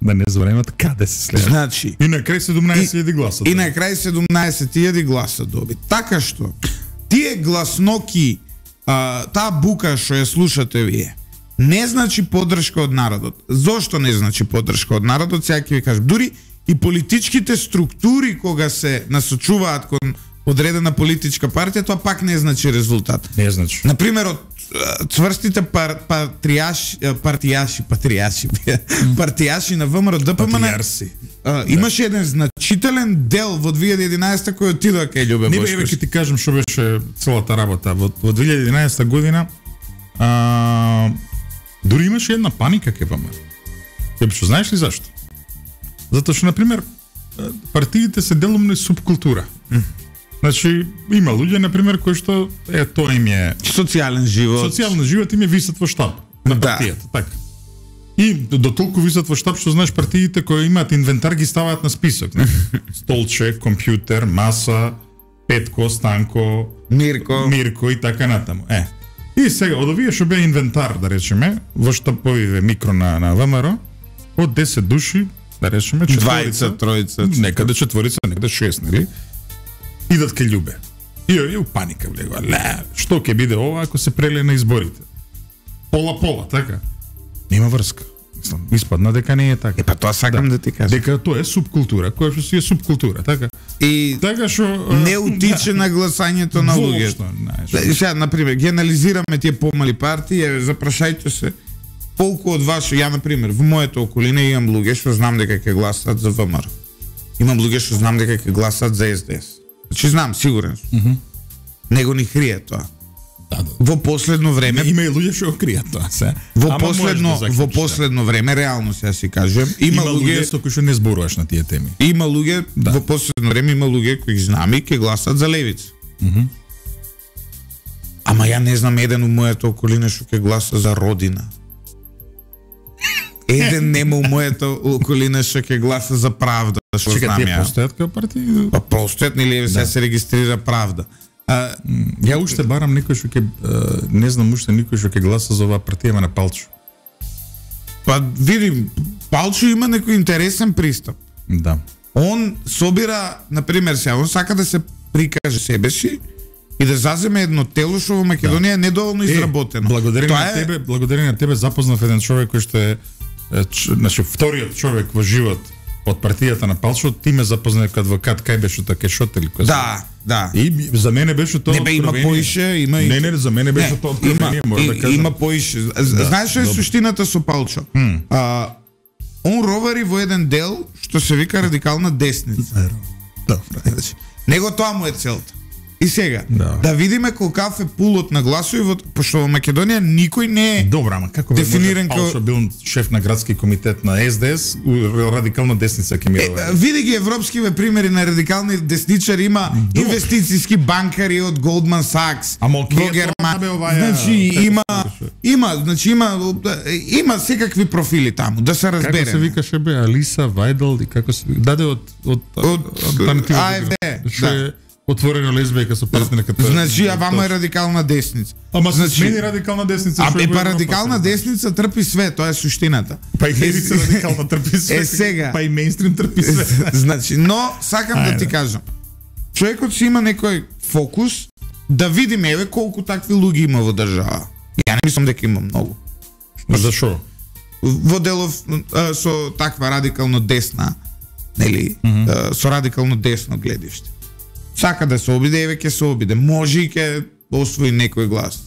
Да не заборавиме од каде се слеа. Значи, и на крај 17.000 гласа. И на крај 17.000 гласа доби. Така што, тие гласноки, таа бука што ја слушате вие, не значи поддршка од народот. Зошто не значи поддршка од народот? Сега ќе ви кажам. Дури и политичките структури кога се насочуваат кон одредена политичка партија, тоа пак не значи резултат. Не значи. Например, од цврстите партијаши на ВМРО-ДПМН имаше еден значителен дел во 2011 кој отидоа кај Љубе Бошковски. Не бе, ќе ти кажам што беше целата работа. Во 2011 година дури имаше една паника кај ВМРО. Што знаеш ли зашто? Затоа што, например, партиите се делумно субкултура. Значи, има луѓе, например, кои што тоа им е социјален живот. Социјален живот им е висат во штаб на партијата, така. И до толку висат во штаб што знаеш партиите кои имаат инвентар ги ставаат на список. Столче, компјутер, маса, Петко, Станко, Мирко и така натаму. И сега, од овие што беа инвентар, да речеме, во штабовиве микро на ВМРО, од 10 души, да речеме, четворица, тројца, некаде четворица, некаде 6, нели? Идат кај Љубе. И у паника влегува. Што ќе биде ова ако се преле на изборите? Пола, така? Нема врска. Мислам, испадна дека не е така. Па тоа сакам да ти кажам. Дека тоа е субкултура, која што си е субкултура, така? И така што не утиче на гласањето на луѓето. Сега, например, ги анализираме тие помали партии, запрашајте се колку од вас, ја например, во мојата околина имам луѓе што знам дека ќе гласат за ВМРО. Имам луѓе што знам дека ќе гласат за СДС. Значи знам, сигурен сум. Него ни крие тоа. Да. Во последно време има и луѓе што кријат тоа се. Во последно време реално сега си кажем, има луѓе кои што не зборуваш на тие теми. Има луѓе во последно време има луѓе кои знам и ќе гласат за левица. Ама ја не знам еден у мојата околина што ќе гласа за Родина. Еден нема у мојата околина што ќе гласа за Правда, што знам ја. Чекај, постојат кај партии? Па постојат, нели сега се регистрира Правда. Ја уште барам некој што ќе не знам уште никој што ќе гласа за оваа партија на Палчо. Па видим, Палчо има некој интересен пристап. Да. Он собира, например, сега он сака да се прикаже себе си и да заземе едно тело што во Македонија е недоволно изработено. Благодарение на тебе запознав еден човек кој што е значи вториот човек во живот од партијата на Палчо, ти ме запозна како адвокат, кај беше тоа Кешот или кој? Да. И за мене беше тоа. Не бе, има поише, има и Не, за мене беше тоа откровение, може да кажам. Има поише. Знаеш што е суштината со Палчо? Он ровари во еден дел што се вика радикална десница. Добро. Него тоа му е целта. И сега, да видиме колкав е пулот на гласови, пошто во Македонија никој не е добро, ама како дефиниран Палчо бил шеф на градски комитет на СДС, радикална десница ќе ми види ги европскиве примери на радикални десничари, има инвестицијски банкари од Goldman Sachs, има секакви профили таму, да се разбереме. Како се викаше бе Алиса Вајдел и како се даде од АФД. Отворена лесбијка со партнерката. Значи, вама е радикална десница. Ама се смени радикална десница. Па радикална десница трпи све, тоа е суштината. Па и левица радикална трпи све. Сега. Па и мејнстрим трпи све. Значи, но сакам да ти кажам. Човекот си има некој фокус да видиме еве колку такви луѓе има во држава. Ја не мислам дека има многу. Зашо? Во делов со таква радикално десна, нели, со радикално десно гледиште. Сака да се обиде, еве ќе се обиде. Може и ќе освои некој глас.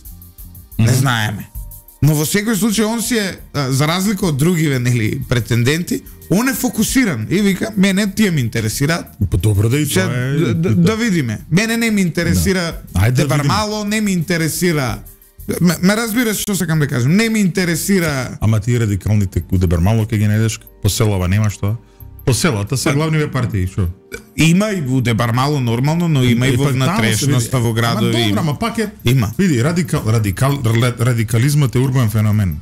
Не знаеме. Но во секој случај он си е, за разлика од другиве, нели, претенденти, он е фокусиран и вика, мене тие ме интересираат. Па добро да и тоа е. Да видиме. Мене не ме интересира Дебармало, не ме интересира. Ме разбираш што сакам да кажам. Не ме интересира. Ама тие радикалните у Дебармало ќе ги најдеш по селава, немаш тоа? По селата се главниве партии, што? Има и во Дебармало нормално, но има и во внатрешноста во градови. Ама добро, ама пак е. Има. Види, радикализмот е урбан феномен.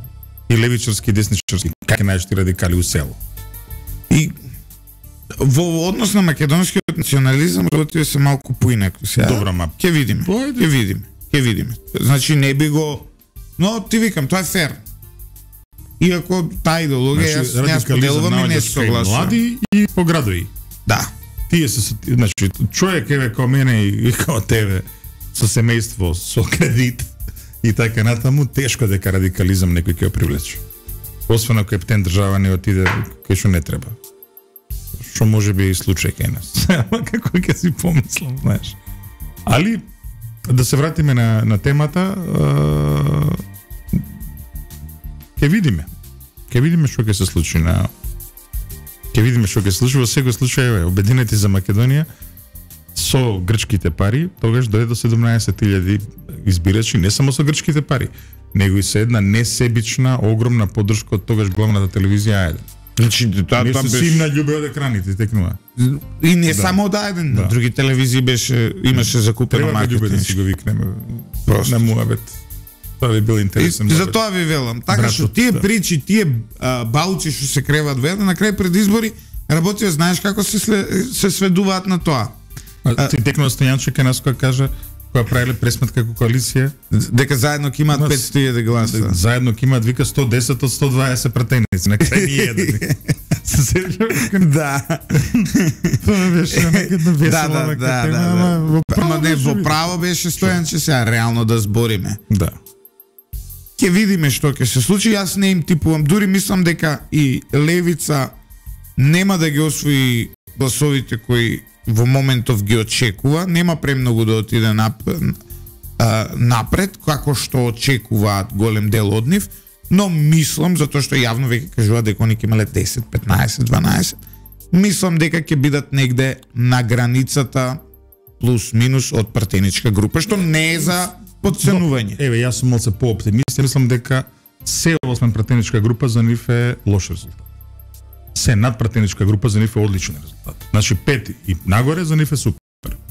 И левичарски и десничарски. Как ќе најдеш ти радикали у село? И во однос на македонскиот национализам работите се малку поинаку сега. Добро, ама ќе видиме. Ќе видиме. Значи не би го, но ти викам, тоа е фер. Иако таа идеологија јас не споделувам и не се согласувам. Млади и по градови. Да. Тие се, значи, човек еве како мене и како тебе со семејство, со кредит и така натаму, тешко дека радикализам некој ќе го привлече. Освен ако ептен држава не отиде кај што не треба. Што може би и случај кај нас. Ама како ќе си помислам, знаеш. Али да се вратиме на темата, ќе видиме. Ќе видиме што ќе се случи на во секој случај, Обединети за Македонија со грчките пари, тогаш дојде до 17.000 избирачи, не само со грчките пари, него и со една несебична, огромна поддршка од тогаш главната телевизија Ајде. Значи, тоа беше симна љубе од екраните, текнува. И не само од Ајден, на други телевизии имаше закупено маркетинг. Треба да си го викнеме на муабет. Тоа би бил интересен. За тоа ви велам. Така што тие причи, тие баучи што се креваат во една, на крај пред избори работија, знаеш како се сведуваат на тоа. Ти текнува Стојанче кај нас која кажа, која правиле пресметка како коалиција, дека заедно ќе имаат 500.000 гласа. Заедно ќе имаат, вика, 110 од 120 пратеници, на крај ни еден. Се сеќаваш? Да. Тоа беше некаде весела тема, Во право беше Стојанче, сега реално да збориме. Да. Ќе видиме што ќе се случи, јас не им типувам, дури мислам дека и левица нема да ги освои гласовите кои во моментов ги очекува, нема премногу да отиде напред, како што очекуваат голем дел од нив, но мислам, затоа што јавно веќе кажуваат дека они ќе имале 10, 15, 12, мислам дека ќе бидат негде на границата плюс-минус од пратеничка група, што не е за подценување. Еве, јас сум малце по-оптимист, мислам дека се освен пратеничка група за нив е лош резултат. Се над пратеничка група за нив е одличен резултат. Значи 5 и нагоре за нив е супер.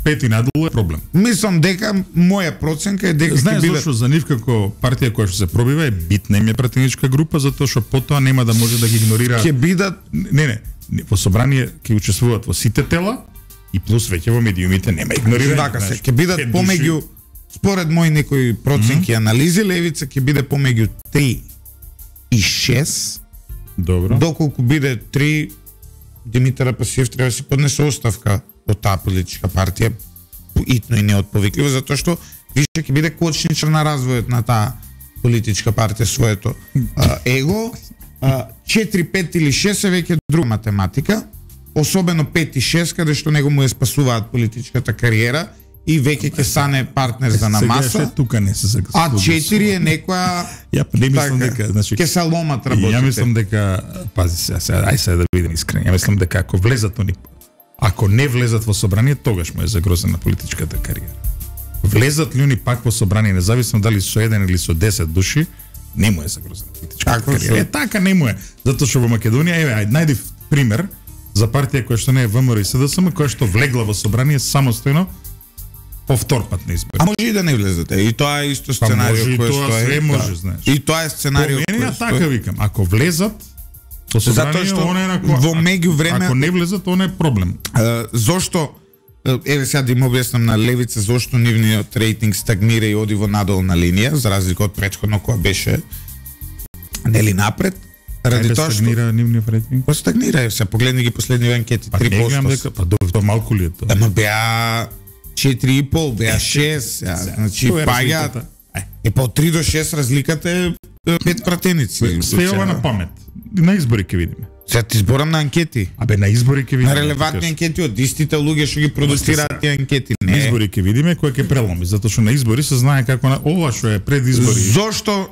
5 и надолу е проблем. Мислам дека моја проценка е дека знаеш ќе биде... зашто за нив како партија која што се пробива е битна им е пратеничка група, затоа што потоа нема да може да ги игнорира. Ќе бидат не, во собрание ќе учествуваат во сите тела и плюс веќе во медиумите нема игнорирање. Така се, ќе бидат помеѓу, според мои некои проценки анализи, левица ќе биде помеѓу 3 и 6. Добро. Доколку биде 3, Димитар Апасиев треба да си поднесе оставка од таа политичка партија, итно и неотповикливо, затоа што више ќе биде кочничар на развојот на таа политичка партија своето его. 4, 5 или 6 е веќе друга математика, особено 5 и 6, каде што него му ја спасуваат политичката кариера и веќе ќе стане партнер за намаса. Сега тука не се сега. А 4 е некоја ја не мислам дека, значи ќе се ломат работите. Ја мислам дека пази сега, ај сега да бидем искрени. Ја мислам дека ако не влезат во собрание, тогаш му е загрозена политичката кариера. Влезат ли они пак во собрание, независно дали со 1 или со 10 души, не му е загрозена политичката кариера. Така не му е, затоа што во Македонија, еве, најди пример за партија која што не е ВМРО и СДСМ, која што влегла во собрание самостојно повтор пат на избори. А може и да не влезете. И тоа е исто сценарио кој тоа све може, знаеш. И тоа е сценарио кој така викам, ако влезат во собрание, во меѓувреме ако не влезат, она е проблем. Зошто еве сега да им објаснам на левица зошто нивниот рейтинг стагнира и оди во надолна линија, за разлика од претходно која беше нели напред. Ради тоа што стагнира нивниот рейтинг. Па стагнира, се погледни ги последни анкети, 3%. Па тоа малку ли е тоа? Ама беа 4,5, беа 6, значи паѓаат. И по 3 до 6 разликата е 5 пратеници. Све ова на памет. На избори ќе видиме. Сега ти зборам на анкети. Абе на избори ќе видиме. На релевантни анкети од истите луѓе што ги продуцираат тие анкети. На избори ќе видиме кој ќе преломи, затоа што на избори се знае како на ова што е пред избори. Зошто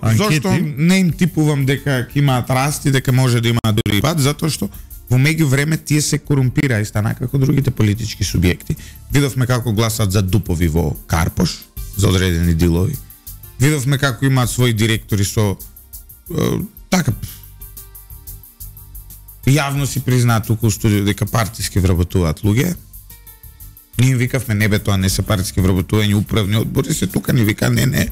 не им типувам дека ќе имаат раст и дека може да имаат дури пат, затоа што во меѓувреме тие се корумпира и стана како другите политички субјекти. Видовме како гласат за дупови во Карпош, за одредени дилови. Видовме како имаат своји директори со така јавно си признаат туку у студио дека партиски вработуваат луѓе. Ние викавме не бе тоа не се партиски вработување, управни одбори се тука ни вика не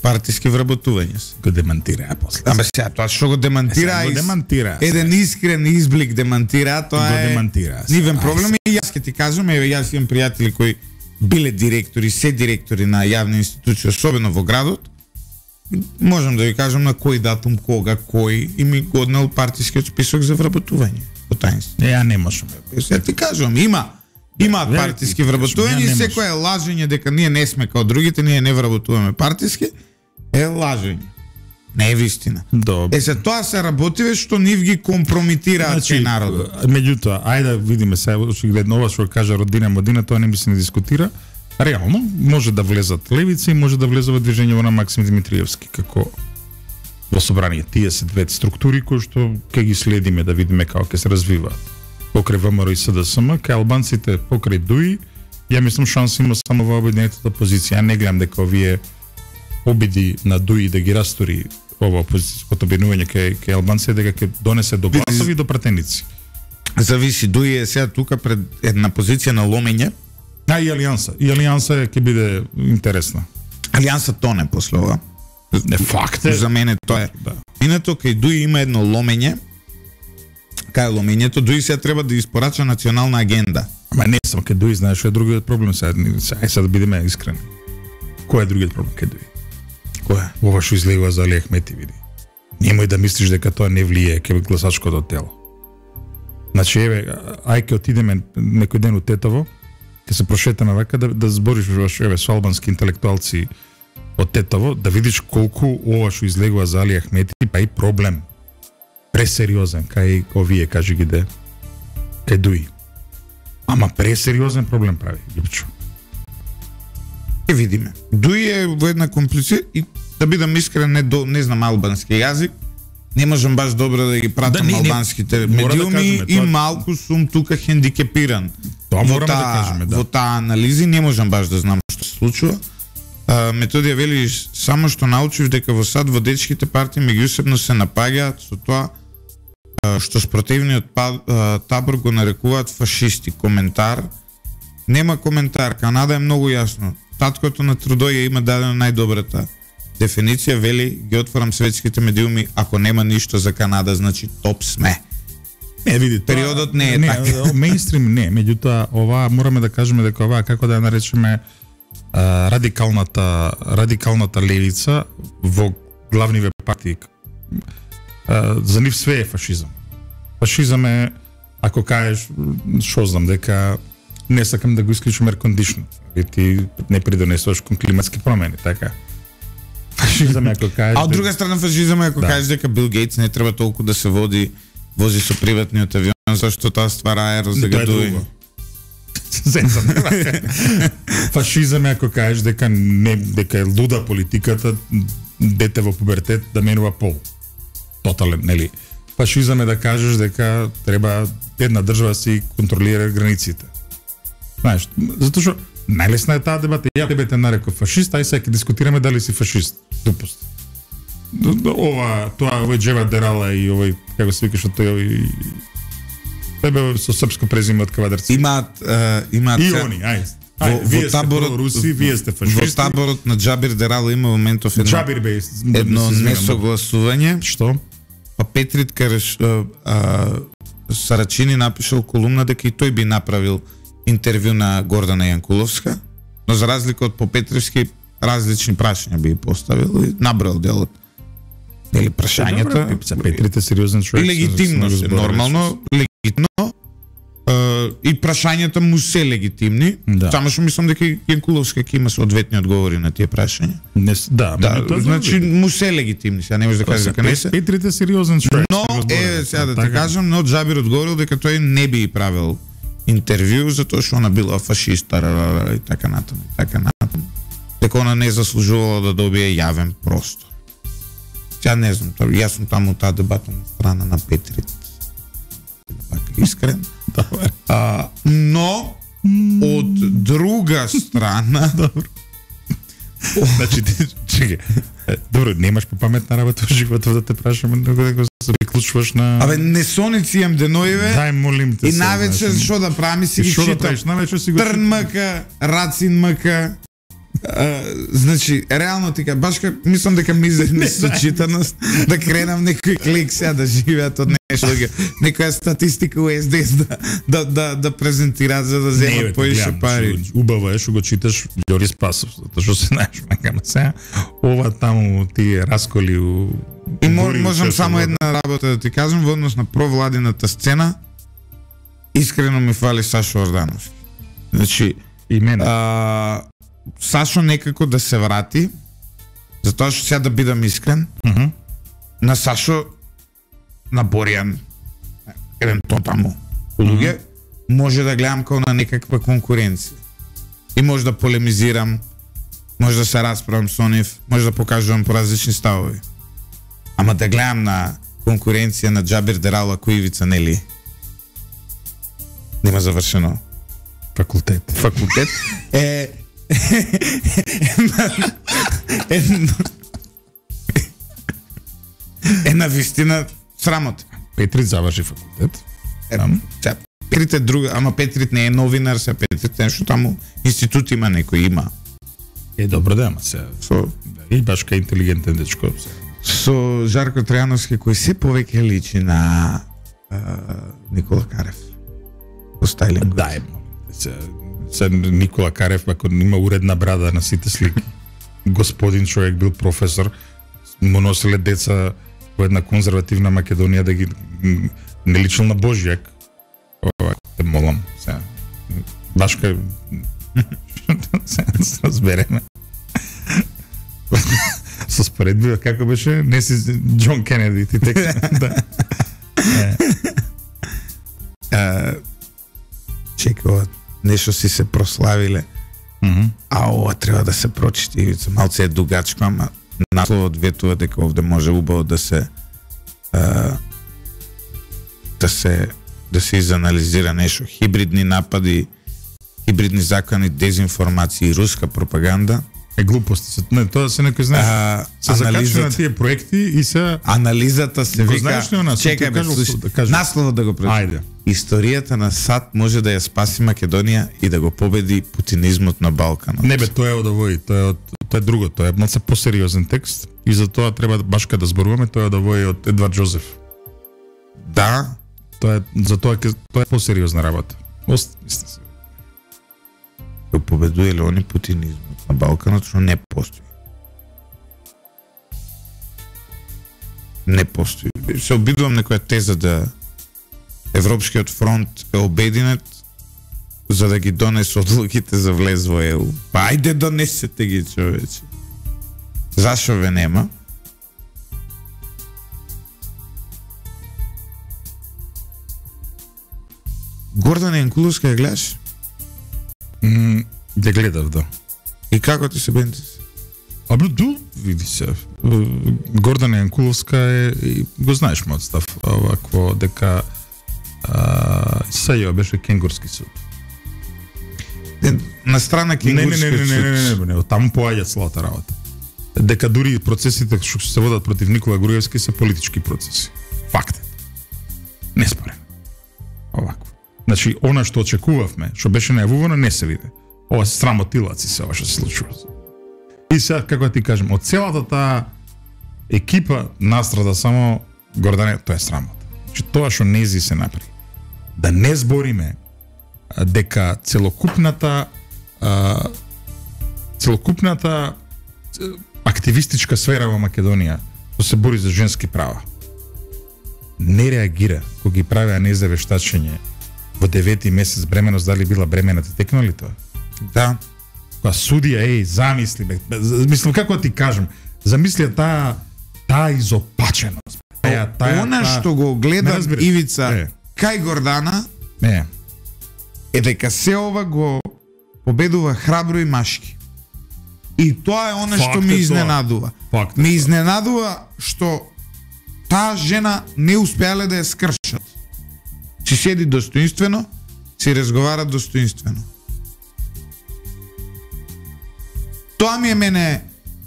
партиски вработување се. Го демантира после. Ама сега тоа што го демантира, го демантира. Еден искрен изблик демантира, тоа го е демантира. Нивен проблем и јас ќе ти кажам, еве јас имам пријатели кои биле директори, се директори на јавни институции, особено во градот. Можам да ви кажам на кој датум, кога, кој и ми годнал партискиот список за вработување. Во тајнство. Ја не можам. Ја ти кажам, имаат партиски вработување и секој е лажење дека ние не сме као другите, ние не вработуваме партиски, е лажење. Не е вистина. Добре. Се тоа се работиве што нив ги компромитираат кај народот. Меѓутоа, ајде да видиме сега очигледно ова што кажа Родина Модина, тоа не би се не дискутира. Реално може да влезат левици и може да влезе во движењето на Максим Димитриевски како во собрание. Тие се две структури кои што ќе ги следиме да видиме како ќе се развиваат. Покрај ВМРО и СДСМ, кај албанците покрај ДУИ, ја мислам шанс има само во обединетата позиција. Ја не гледам дека овие обиди на ДУИ да ги растори ова опозицијското обединување кај албанците дека ќе донесе до гласови и до пратеници. Зависи, ДУИ е сега тука пред една позиција на ломење. И Алијанса. И Алијанса ќе биде интересна. Алијанса тоне после ова. Не факт е. За мене тоа е. Да. Инато кај ДУИ има едно ломење. Кај ломењето ДУИ сега треба да испорача национална агенда. Ама не само кај ДУИ, знаеш што е другиот проблем сега. Сега да бидеме искрени. Кој е другиот проблем кај ДУИ? Кој е? Ова што излегува за Али Ахмети, види. Немој да мислиш дека тоа не влие кај гласачкото тело. Значи, еве, ајке отидеме некој ден у Тетово, ќе се прошетаме вака да збориш еве со албански интелектуалци од Тетово, да видиш колку ова што излегува за Али Ахмети, па и проблем. Пресериозен, кај овие, кажи ги де, кај Дуи. Ама пресериозен проблем прави, Липчо. Ќе видиме. Дуи е во една комплиција и да бидам искрен, не знам албански јазик, не можам баш добро да ги пратам албанските медиуми и малку сум тука хендикепиран. Тоа мораме да кажеме, да. Во таа анализи не можам баш да знам што се случува. Методија вели само што научив дека во САД во дечките партии меѓусебно се напаѓаат со тоа што спротивниот табор го нарекуваат фашисти. Коментар? Нема коментар. Канада е многу јасно. Таткото на Трудој има дадено најдобрата дефиниција, вели, ги отворам светските медиуми, ако нема ништо за Канада, значи топ сме. Не, види, периодот не е така. Мејнстрим не, меѓутоа ова мораме да кажеме дека ова, како да ја наречеме, радикалната левица во главниве партии. За нив све е фашизам. Фашизам е, ако кажеш, шо знам, дека не сакам да го исклучам еркондишн, ти не придонесуваш кон климатски промени, така. Фашизам е ако кажеш... А од друга страна фашизам е ако кажеш дека Бил Гейтс не треба толку да се вози со приватниот авион, зашто тоа ствара аерозагадување. Фашизам е ако кажеш дека е луда политиката дете во пубертет да менува пол. Тотален, нели? Фашизам е да кажеш дека треба една држава си контролира границите. Знаеш, затоа што најлесна е таа дебата. Ја тебе те нареков фашист, ај сега ќе дискутираме дали си фашист. Допуст. Овој Джева Дерала и овој, како се викаш, тој тебе со српско презиме од Кавадарци. Имаат и они, вие сте руси, вие сте фашисти. Во таборот на Џабир Дерала има моментов едно несогласување. Што? Па Петрит Сарачини напишал колумна дека и тој би направил интервју на Гордана Јанкуловска, но за разлика од Попетривски различни прашања би поставил и набрал делот. Дели прашањата, Петрит е сериозен човек. И легитимно се, нормално, легитимно. И прашањата му се легитимни. Да. Само што мислам дека Јанкуловска ќе има соодветни одговори на тие прашања. Значи му се легитимни, сега не може да каже дека не се. Петрит е сериозен човек. Но сега да ти кажам, но Џабир одговорил дека тој не би правил интервју затоа што она била фашиста и така натаму, дека она не заслужувала да добие јавен простор. Сега не знам, јас сум таму таа дебата на страна на Петрит. Искрен. Но од друга страна, значи чекај. Добро, немаш попаметна работа во животот да те прашам дека се приклучуваш на... Абе, несоници имам деноиве. Дај, молим те. И навечер што да правам, си ги читам. Трн мъка, Рацин мъка. Значи, реално ти кажа, баш мислам дека ми изедне сочитаност, да кренам некој клик сега да живеат од нешто, некоја статистика у СДС да презентираат за да земат поише пари. Убаво е што го читаш Ѓори Спасов, затоа што се знаеш, макама сега, ова таму тие расколи у... И можам само една работа да ти кажам, во однос на провладината сцена, искрено ми фали Сашо Ордановски. Значи, и мене. Сашо некако да се врати, затоа што сега да бидам искрен, на Сашо, на Боријан, еден то таму, луѓе, може да гледам као на некаква конкуренција. И може да полемизирам, може да се расправам со нив, може да покажувам по различни ставови. Ама да гледам на конкуренција на Џабир Дерала Коивица, нели? Нема завршено факултет. Една вистина срамот. Петрит заврши факултет. Петрит е друга, ама Петрит не е новинар, се Петрит нешто таму институт има, некој има. Добро да, ама се. И баш кај интелигентен дечко. Со Жарко Тројановски кој се повеќе личи на Никола Карев. По стайлинг. Да, се Никола Карев, ако има уредна брада на сите слики. Господин човек бил професор, му носеле деца во една конзервативна Македонија да ги не личил на Божјак. те молам, сега. Башка сега да се разбереме. Со споредбива како беше, не си Џон Кенеди, ти така. Чекай, нешто си се прославиле. А ова треба да се прочити, малце е дугачко, ама насловот ветува дека овде може убаво да се изанализира нешто. Хибридни напади, хибридни закони, дезинформација и руска пропаганда. Глупости. Не, тоа се некој знае. Се закачува на тие проекти и се анализата се вика. Чекај бе, насловот да го прочитам. Ајде. Историјата на САД може да ја спаси Македонија и да го победи путинизмот на Балканот. Не бе, тоа е од овој, тоа е друго, тоа е малце посериозен текст и за тоа треба башка да зборуваме, тоа е од овој од Едвард Жозеф. Да, тоа е посериозна работа. Мислите се. Го победуеле они путинизмот на Балканот, што не постои. Не постои. Се обидувам некоја теза да Европскиот фронт е обединет за да ги донесе одлуките за влез во ЕУ. Па ајде донесете ги, човече. Зашо ве нема? Гордана Јанкуловска ја гледаш? Ја гледав, да. И како ти се бентис? Види се. Гордана Јанкуловска е, го знаеш мојот став, овакво дека Сајо беше кенгурски суд. На страна кенгурски суд. Не, таму поаѓа целата работа. Дека дури процесите што се водат против Никола Груевски се политички процеси. Факт е. Не спорен. Овако. Значи, она што очекувавме, што беше најавувано, не се виде. Ова се срамотилаци се ова што се случува. И сега, како ти кажем, од целата таа екипа настрада само Гордане, тоа е срамота. Значи, тоа што нези се направи. Да не збориме дека целокупната активистичка сфера во Македонија што се бори за женски права не реагира кога ги правеа неза вештачење во 9-ти месец бременост, дали била бремена, ти текна ли тоа? Да. Кога судија, замисли, мислам како ти кажам, замисли таа изопаченост. Она што го гледам Ивица кај Гордана е дека се ова го победува храбро и машки. И тоа е она што ме изненадува. Ме изненадува што таа жена не успеале да ја скршат. Си седи достоинствено, си разговара достоинствено. Тоа ми е мене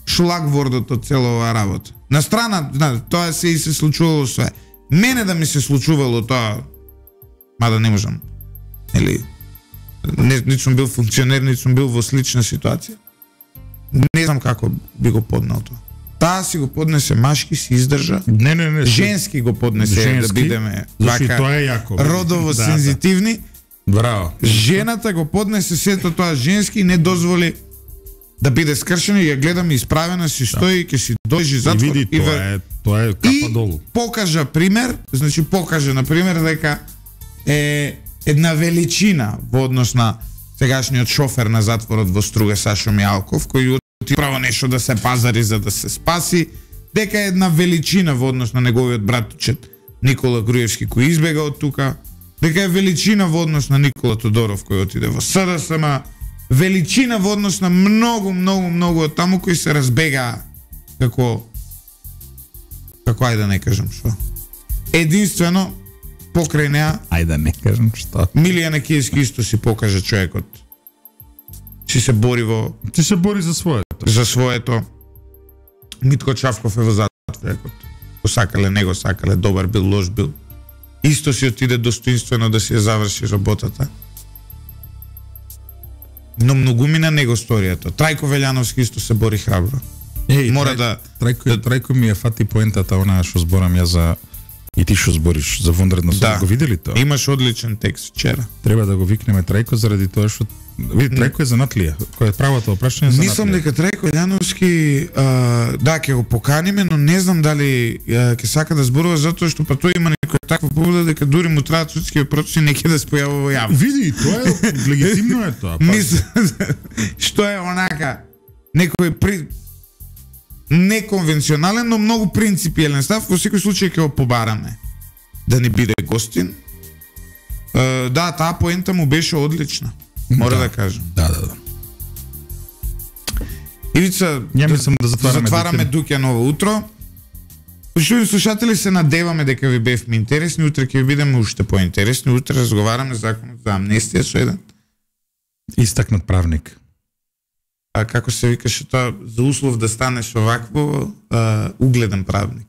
шлагвордот од цела оваа работа. На страна, тоа се и се случувало све. Мене да ми се случувало тоа, мада не можам, не сум бил функционер, не сум бил во слична ситуација. Не знам како би го поднал тоа. Таа си го поднесе машки, си издржа. Не. Женски го поднесе, да бидеме вака родово сензитивни. Браво. Жената го поднесе сето тоа женски и не дозволи да биде скршена и ја гледам исправена, си стои, ќе си дојжи затвор. И види, тоа е капа долу. Покажа пример, значи покажа на пример дека е една величина во однос на сегашниот шофер на затворот во Струга Сашо Мијалков, кој оти право нешто да се пазари за да се спаси, дека е една величина во однос на неговиот братучет Никола Груевски кој избега од тука, дека е величина во однос на Никола Тодоров кој отиде во СДСМ, величина во однос на многу од таму кои се разбегаа како ајде да не кажам што. Единствено покрај неа, ајде да не кажам што. Милија Некиевски исто си покажа човекот. Си се бори за своето. За своето. Митко Чавков е во затворот. Го сакале, не го сакале, добар бил, лош бил. Исто си отиде достоинствено да си ја заврши работата. Но многумина него сторијата. Трајко Велјановски исто се бори храбро. Трајко ми ја фати поентата, она што зборам ја за и ти што збориш за вонредно се, го видели тоа? Имаш одличен текст вчера. Треба да го викнеме Трајко заради тоа што види Трајко е занатлија. Кој е правото опрашање за Мислам дека Трајко Велјановски ќе го поканиме, но не знам дали ќе сака да зборува затоа што па тој има некоја таква побуда дека дури му траат судски процеси неќе да се појавува во јавност. Види, тоа е легитимно е тоа. Што е онака некој неконвенционален, но многу принципиелен став, во секој случај ќе го побараме да не биде гостин. Да, таа поента му беше одлична. Мора да кажам. Да. Ивица, ја мислам да затвараме Дуќаново утро. Почитувани слушатели, се надеваме дека ви бевме интересни, утре ќе ви бидеме уште поинтересни. Утре разговараме законот за амнестија со еден истакнат правник. А како се викаше тоа, за услов да станеш овакво, угледен правник.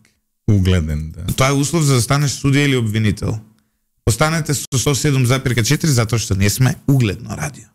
Угледен, да. Тоа е услов за да станеш судија или обвинител. Останете со 107,4 затоа што не сме угледно радио.